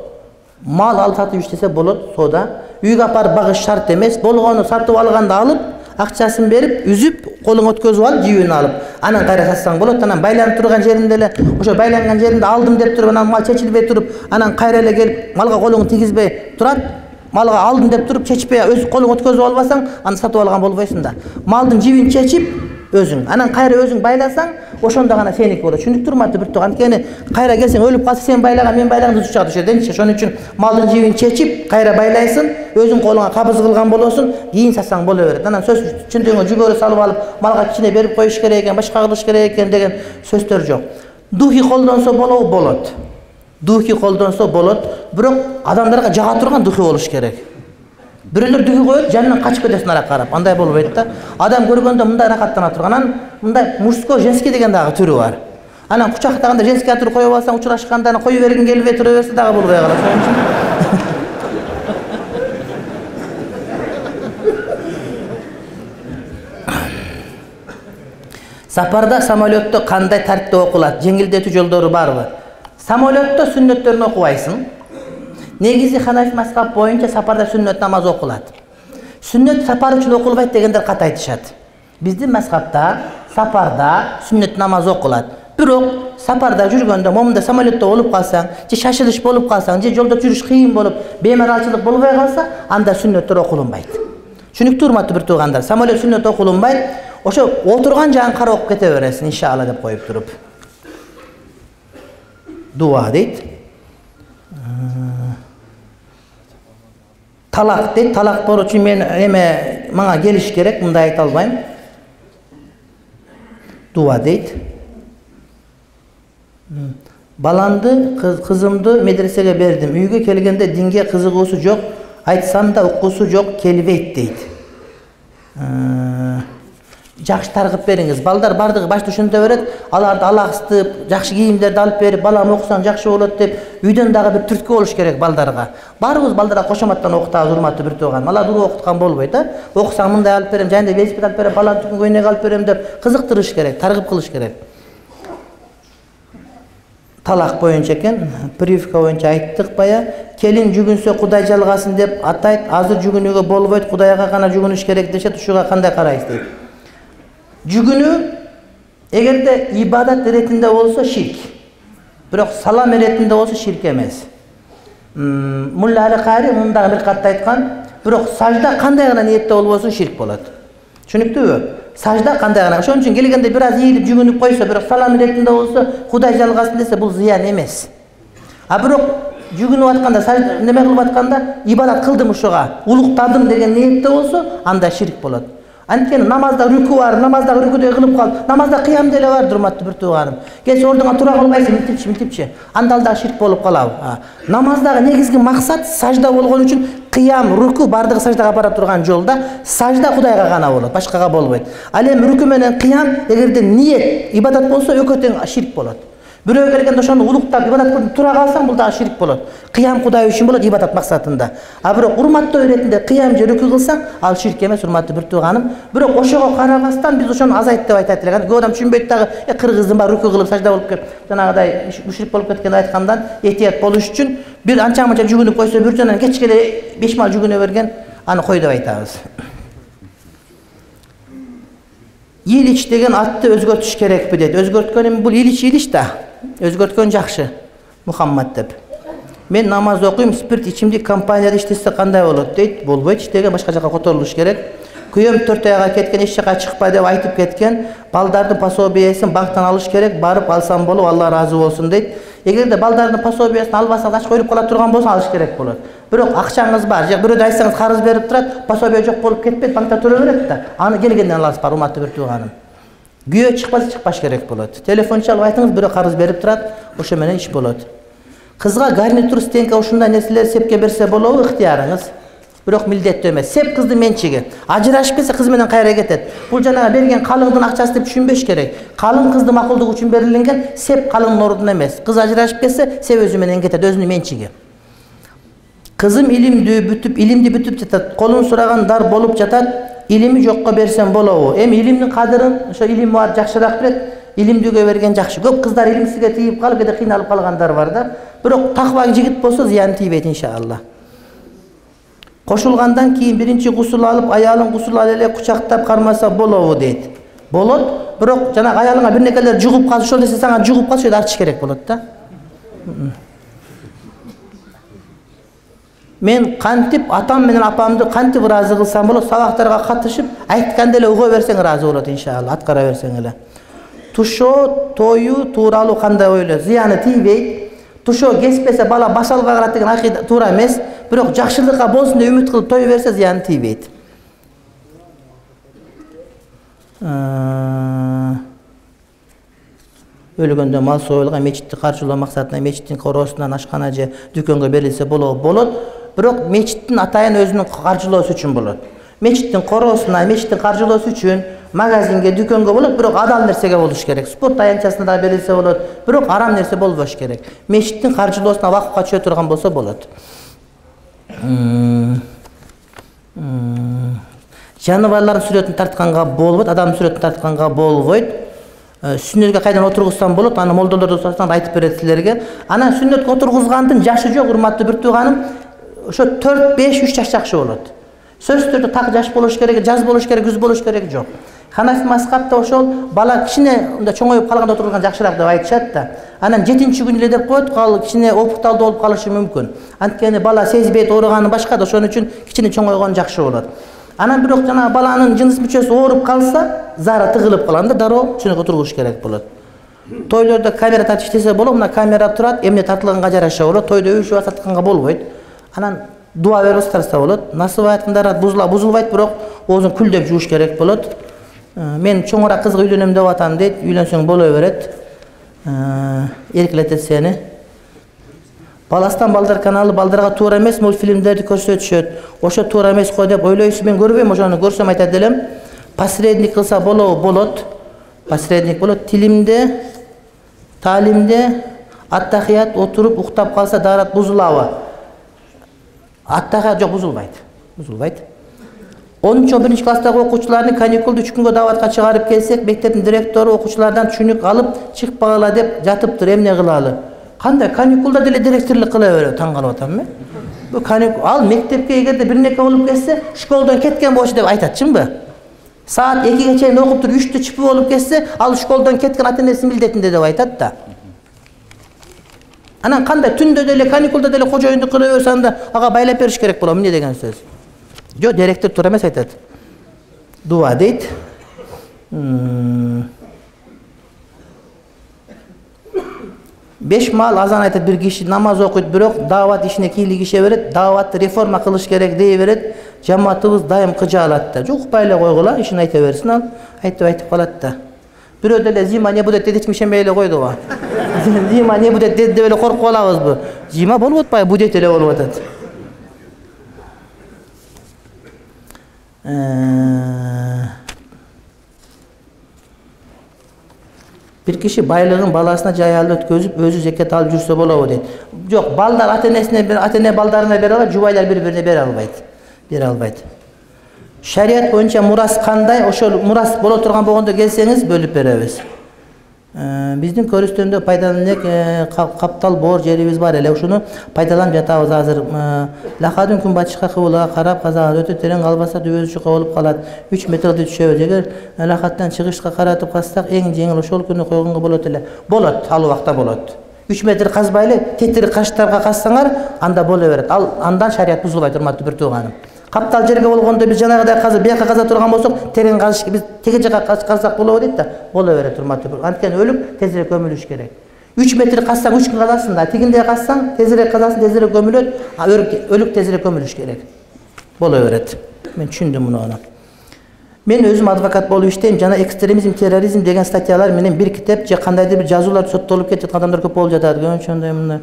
Мал алып сатып иштесе болот, соода. Үйгө апарып багыш шарт эмес. Болгону сатып алганда алып, акчасын берип, үзүп, колуңа өткөзүп алып, жибин алып, анан кайра сатсаң болот. Анан байланып турган жеринде эле, ошо байланган жеринде алдым деп туруп, анан мал чечилбей туруп, анан кайра эле келип, малга колуңду тийгизбей турат. Малга алдым деп туруп, чечпей, өз колуңа өткөзүп албасаң, аны сатып алган болбойсуң да. Малдын жибин чечип, өзүң, анан кайра өзүң байласаң, ошондо гана сеники болот. Түшүндүктү, урматтуу бир тууган. Анткени кайра келсең өлүп калса сен байлаган, мен байлаган түз чыгат ошо жерденчи. Ошон үчүн малдын жибин чечип, кайра байлайсың, өзүң колуңа кабыз кылган болосуң, кийин сатсаң боло берет. Анан сөз чындыгы жүгөрү салып алып, малга кичине берип коюш керек экен, башка кылыш керек экен деген сөздөр жок. Духи колдонсо болобу? Болот. Духи колдонсо болот, бирок адамдарга жага турган духи болуш керек. Бирөөлөр духи коет, жанынан качып кетесиң ара карап. Андай болбойт да. Адам көргөндө мындай рахаттана турган, анан мындай мужской, женский деген дагы түрү бар. Анан кучактаганда женский атыр коюп алсаң, учурашканда анан кое бергиң келбей тура берсе дагы болбой калат. Ошон үчүн сапарда, самолетто кандай тартипте окулат? Жеңилдетүү жолдору барбы? Самолетто сүннөттөрүн окубайсың. Негизи Ханафи мазхабы боюнча сапарда сүннөт намаз окулат. Сүннөт сапар үчүн окулбайт дегендер ката айтышат. Биздин мазхабда сапарда сүннөт намаз окулат. Бирок сапарда жүргөндө, момунда самолетто болуп калсаң, же шашылыш болуп калсаң, же жолдо жүрүш кыйын болуп, беймаралчылык болбой калса, анда сүннөттөр окулунбайт. Түшүнүктүү урматтуу бир туугандар, самолет сүннөт окулунбайт. Ошо отурган жагын карап кете бересиң, иншалла деп коюп туруп. Дуа дейт. Талак дейт. Талак болуу үчүн мен эме мага келиш керек, мындай айта албайм. Дуа дейт. Баламды, кызымды медресеге бердим. Үйгө келгенде динге кызыгуусу жок, айтсам да укуусу жок, келбейт дейт. Жакшы таргып бериңиз. Балдар бардыгы башта ушунта берет, аларды алакстып, жакшы кийимдерди алып берип, балам окусаң жакшы болот деп, үйдөн дагы бир түрткү болуш керек балдарга. Баарыбыз балдарга кошоматтан окутабыз, урматтуу бир тууган. Алар дуру окуткан болбойт, да? Окусаң мындай алып берем, жайында велосипед алып берем, балам түкүнгө ойнок алып берем деп кызыктырыш керек, таргып кылыш керек. Талак боюнча экен, прививка боюнча айттык бая. Келин жүгүнсө Кудай жалгасын деп атайт. Азыр жүгүнүүгө болбойт, Кудайга гана жүгүнүш керек дешет. Ушуга кандай карайсыз дейт. Жүгүнүү эгерде ибадат иретинде болсо ширк. Бирок салам иретинде болсо ширк эмес. Мулла Али Кари мындай бир катта айткан, бирок сажда кандай гана ниетте болбосун ширк болот. Түшүнүктүүбү? Сажда кандай гана. Ошон үчүн келгенде бир аз ийилип жүгүнүп койсо, бирок салам иретинде болсо, Кудай жалгасын десе, бул зыян эмес. А бирок жүгүнүп атканда, сажда неме кылып атканда, ибадат кылдым ушуга, улуктадым деген ниетте болсо, анда ширк болот. Анткени намазда рүкү бар, намазда рүкүдөй кылып кал, урмазда кыям деле бар, урматтуу бир тууганым. Келсе ордуңа тура калбайсың, милтипчи, милтипчи. Анда да ширк болуп калабы. Намаздагы негизги максат сажда болгон үчүн кыям, рүкү бардыгы саждага бара турган жолда, сажда Кудайга гана болот, башкага болбойт. Ал эми рүкү менен кыям эгерде ниет, ибадат болсо экөө тең ширк болот. Бирөө келгенде ошону улуктап ибадат кылып тура калсаң, бул дагы ширк болот. Кыям Кудай үчүн болот, ибадат максатында. А бирок урматтоо иретинде кыям же рүкү кылсаң, ал ширк эмес, урматтуу бир тууганым. Бирок ошого карабастан биз ошону азайт деп айтат элек. Көп адам түшүнбөйт дагы, э кыргыздын баары рүкү кылып сажда болуп кеп, жанагыдай мушрик болуп кеткен айткандан этият болуш үчүн бир анча-мынча жүгүнүп койсо, бир жөнүнөн кечке беш мал жүгүнө берген, аны кой деп айтабыз. Илич деген атты өзгөртүш керекпи дейт. Өзгөрткөн эми бул Илич Илич да. Өзгөрткөн жакшы. Мухаммад деп. Мен намаз окуйм, спирт ичимдик компанияда иштесе кандай болот дейт. Болбойт, иштеген башка жака которулуш керек. Күйөөм төрт айга кеткен, эч жака чыкпа деп айтып кеткен. Балдардын пособиясын банктан алыш керек, барып алсам болуп, Алла ыраазы болсун дейт. Эгерде балдардын пособиясын албасаңыз, ачка өлүп кала турган болсо алыш керек болот. Бирок акчаңыз бар, же бирөөдө айтсаңыз карыз берип турат, пособия жок болуп кетпейт, банкта тура берет да. Аны келгенден аласыз, бар урматтуу бир тууганым. Күйөө чыкпаса чыкпаш керек болот. Телефон чалып айтыңыз, бирөө карыз берип турат, ошо менен иш болот. Кызга гарнитур, стенка ушундай нерселер сепке берсе болобу, ыктыярыңыз. Бирок милдеттүү эмес. Сеп кыздын менчиги. Ажырашып кетсе кыз менен кайра кетет. Бул жанагы берген калыңдын акчасы деп түшүнбөш керек. Калың кыздын макулдугу үчүн берилген, сеп калыңдын ордуна эмес. Кыз ажырашып кетсе, сеп өзү менен кетет, өзүнүн менчиги. Кызым илимдүү бүтүп, илимди бүтүп жатат. Колун сураган дар болуп жатат. Илими жокко берсем болобу? Эми илимдин кадырын, ошо илими бар жакшыраак билет. Илимдүүгө берген жакшы. Көп кыздар илимсизге тийип калып, кээде кыйналып калгандар бар да. Бирок таква жигит болсо зыян тийбейт иншалла. Кошулгандан кийин биринчи гусул алып, аялын гусул алып эле кучактап кармаса болобу дейт. Болот, бирок жана аялыңа бир некелер жугуп калса, ошол нерсе сага жугуп калса, ошо артыш керек болот да. Мен кантип атам менен апамды кантип ыраазы кылсам болот, сабактарга катышып, айтканда эле уга берсең ыраазы болот иншалла, аткара берсең эле. Тушоо, тою тууралуу кандай ойлойсуз? Зыяны тийбейт. Тушоо кеспесе бала башалга карат деген акыйда туура эмес, бирок жакшылыкка болсун деп үмүт кылып той берсе зыяны тийбейт. Өлгөндө мал союлган мечитти каржылоо максатында мечиттин короосунан ашкана же дүкөнгө берилсе болобу? Болот. Бирок мечиттин атайын өзүнүн каржылоосу үчүн болот. Мечиттин короосуна, мечиттин каржылоосу үчүн магазинге, дүкөнгө болот, бирок адал нерсеге болуш керек. Спорт аянтчасына да берилсе болот, бирок арам нерсе болбош керек. Мешиттин каржылоосуна вакыпка түшө турган болсо болот. Жаныбарлардын сүрөтүн тартканга болбойт, адамдын сүрөтүн тартканга болбойт. Сүннөткө кайдан отургузсам болот, аны молдолордон сурасаң айтып берет силерге. Анан сүннөткө отургузгандын жашы жок, урматтуу бир тууганым. Ошо төрт беш үч жаш жакшы болот. Сөзсүз түрдө так жаш болуш керек, жаз болуш керек, күз болуш керек жок. Ханафи мазхабта ошол бала кичине мындай чоңоюп калганда отурган жакшыраак деп айтышат да. Анан жетинчи күн эле деп коет, кал кичине опукталдуу болуп калышы мүмкүн. Анткени бала сезбейт ооруганы башка да, ошон үчүн кичине чоңойгон жакшы болот. Анан бирок жана баланын жыныс мүчөсү ооруп калса, зара тыгылып калганда дароо чыныгы отургуш керек болот. Тойлордо камера тартып иштесе болот, мына камера турат, эмне тартылганга жараша болот, тойдо үйшүп атканга болбойт. Анан дуа берип тарса болот. Насып айтканда бузула бузулбайт, бирок оозун күлдөп жууш керек болот. Мен чоңураак кызга үйлөнөм деп атам дейт, үйлөнсөң боло берет. Эркелетет сени. Баластан балдар каналы балдарга туура эмес мультфильмдерди көрсөтүшөт. Ошо туура эмес го деп ойлойсуз, мен көрбөйм, ошону көрсөм айтат элем. Посредник кылса болобу? Болот. Посредник болот. Тилимде, таалимде аттахият отуруп уктап калса дарат бузулабы? Аттахият жок, бузулбайт. Бузулбайт. онунчу он биринчи класстагы окуучуларды каникулду үч күнгө даватка чыгарып келсек, мектептин директору окуучулардан түшүнүк алып, чыкпагыла деп жатыптыр, эмне кылалы? Кандай каникулда деле директорлук кыла берет, таң калып атам мен. Бу каникул ал мектепке эгерде бир неке болуп кетсе, школдон кеткен болчу деп айтат, чынбы? Саат экиге чейин окуп туруп үчтө чыпы болуп кетсе, ал школдон кеткен ата-энеси милдетинде деп айтат да. Анан кандай түндө деле каникулда деле кожоюндук кыла берсе, анда ага байлап бериш керек болот, эмне деген сөз? Жок, директор туура эмес айтат. Дуа дейт. Беш маал азан айтат, бир киши намаз окуйт, бирок даават ишине кийлигише берет, дааватты реформа кылыш керек дей берет. Жамаатыбыз дайым кыжаалат да. Жок, байлай койгула, ишин айта берсин ал. Айтып айтып калат да. Бирөө деле зима не будет деп ишенбей эле койду го. Зима не будет деп эле коркуп алабызбы? Зима болуп атпайбы, будет эле болуп атат. Бир киши байлыгын баласына жаялы өткөзүп, өзү зекет алып жүрсө болобу дейт. Жок, балдар ата-энесине, ата-эне балдарына бере алат, жубайлар бири-бирине бере албайт. Бере албайт. Шарият боюнча мурас кандай? Ошол мурас боло турган болгондо келсеңиз бөлүп беребиз. Биздин көрүстөндө пайдаланып каптал боор жерибиз бар эле, ушуну пайдаланып жатабыз азыр. Лакадын күнбатышка кыбылга карап казаган өтө терең калбаса дүбөзү чука болуп калат. үч метрди түшөбүз. Эгер лакаттан чыгышка каратып кассак, эң жеңил ошол күнү койгонго болот эле. Болот, ал убакта болот. үч метр казбай эле тетири каштарга кассаңар, анда боло берет. Ал андан шарият бузулбайт, урматтуу бир тууганым. Каптал жерге болгондо биз жанагыдай казып, бияка каза турган болсок, терең казыш, биз теге жака казсак болобу дейт да, боло берет, урматтуу. Анткени өлүк тезирээк көмүлүш керек. үч метр казсаң үч күн казасың да, тигиндей казсаң тезирээк казасың, тезирээк көмүлөт, а өлүк тезирээк көмүлүш керек. Боло берет. Мен түшүндүм муну. Мен өзүм адвокат болуп иштейм жана экстремизм, терроризм деген статьялар менен бир китеп же кандайдыр бир жазуулар соттолуп кетип жаткан адамдар көп болуп жатат. Ошондой мындай.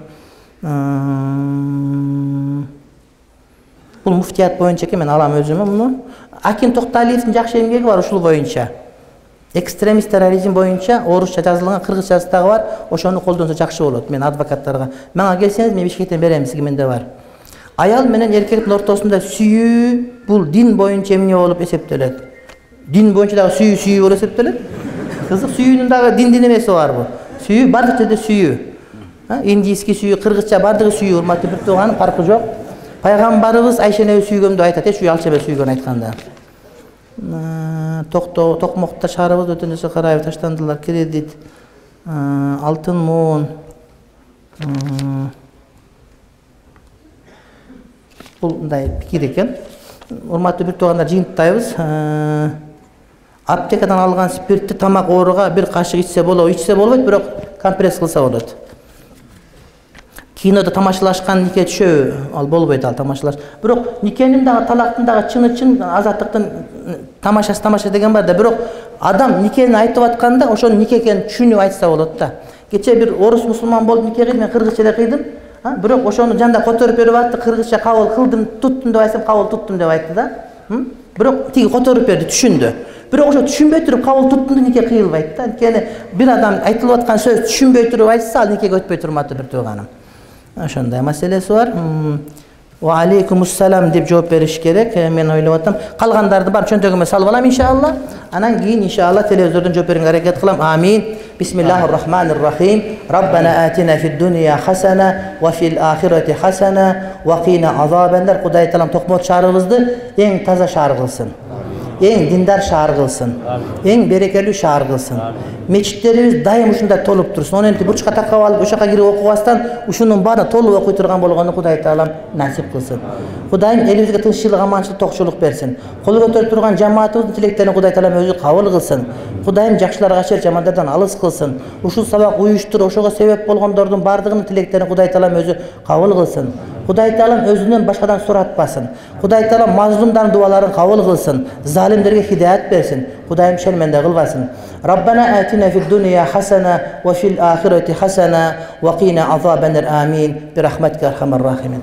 Бул муфтият боюнча экен, мен алам өзүмө муну. Аким Токталиевдин жакшы эмгеги бар ушул боюнча. Экстремист терроризм боюнча орусча жазылган, кыргызчасы дагы бар. Ошону колдонсо жакшы болот мен адвокаттарга. Мага келсеңиз мен Бишкектен берем, сизге менде бар. Аял менен эркектин ортосунда сүйүү бул дин боюнча эмне болуп эсептелет? Дин боюнча дагы сүйүү сүйүү болуп эсептелет. Кызык, сүйүүнүн дагы диндин эмеси барбы? Сүйүү бардык жерде сүйүү. Индийский сүйүү, кыргызча бардыгы сүйүү, урматтуу бир тууган, фаркы жок. Пайгамбарыбыз Айшени сүйгөмдү айтат, эч үй алча эмес сүйгөн айтканда. Токто токмокто шаарыбыз өтөнүсү карайып таштандылар, кредит, алтын муун. Бул мындай пикир экен. Урматтуу бир туугандар, жыйынтайбыз. Аптекадан алган спиртти тамак ооруга бир кашык ичсе болобу, ичсе болбойт, бирок компресс кылса болот. Кинода тамашалашкан нике түшөбү? Ал болбойт, ал тамашалаш. Бирок никенин дагы, талактын дагы чыны-чын азаттыктын тамашасы тамаша деген бар да, бирок адам никени айтып атканда ошону нике экенин түшүнүп айтса болот да. Кече бир орус мусулман болуп нике кыйдым, мен кыргызча эле кыйдым. Бирок ошону жанда которуп берип атты, кыргызча кабыл кылдым, туттум деп айтсам, кабыл туттум деп айтты да. Бирок тиги которуп берди, түшүндү. Бирок ошо түшүнбөй туруп кабыл туттунда нике кыйылбайт да. Анткени бир адам айтылып аткан сөз түшүнбөй туруп айтса, ал никеге өтпөй турматы бир тууганым. Ошондой маселеси бар. Ва алейкумуссалам деп жооп бериш керек. Мен ойлоп атам. Калгандарды бар чөнтөгүмө салып алам иншалла. Анан кийин иншалла телевизордон жооп берүүгө аракет кылам. Амин. Бисмиллахир-рахманир-рахим. Раббана атина фид-дунья хасана ва фил-ахирати хасана ва кина азабаннар. Кудай таалам Токмот шаарыбызды эң таза шаар кылсын. Эң диндар шаар кылсын. Эң берекелүү шаар кылсын. Мечиттерибиз дайым ушундай толуп турсын. Оненти бурчка такап алып, ошо жака кирип окубастан ушунун баарын толуп окуй турган болгону Кудай таалам насип кылсын. Кудайым элибизге тынччылык, аманчылык, токчулук берсин. Кол көтөрүп турган жамаатыбыздын тилектерин Кудай таалам өзү кабыл кылсын. Кудайым жакшыларга шер, жамандардан алыс кылсын. Ушул сабак уюштуруп, ошого себеп болгондордун бардыгынын тилектерин Кудай таалам өзү кабыл кылсын. Кудай таалам өзүнөн башкадан суратпасын. Кудай таалам мазлумдардын дуаларын кабыл кылсын. Залимдерге хидаят берсин. Кудайым шерменде кылбасын. Раббана атина фид-дунья хасана ва фил-ахирати хасана ва кина азабаннар. Амин. Бирахматика архамар рахимин.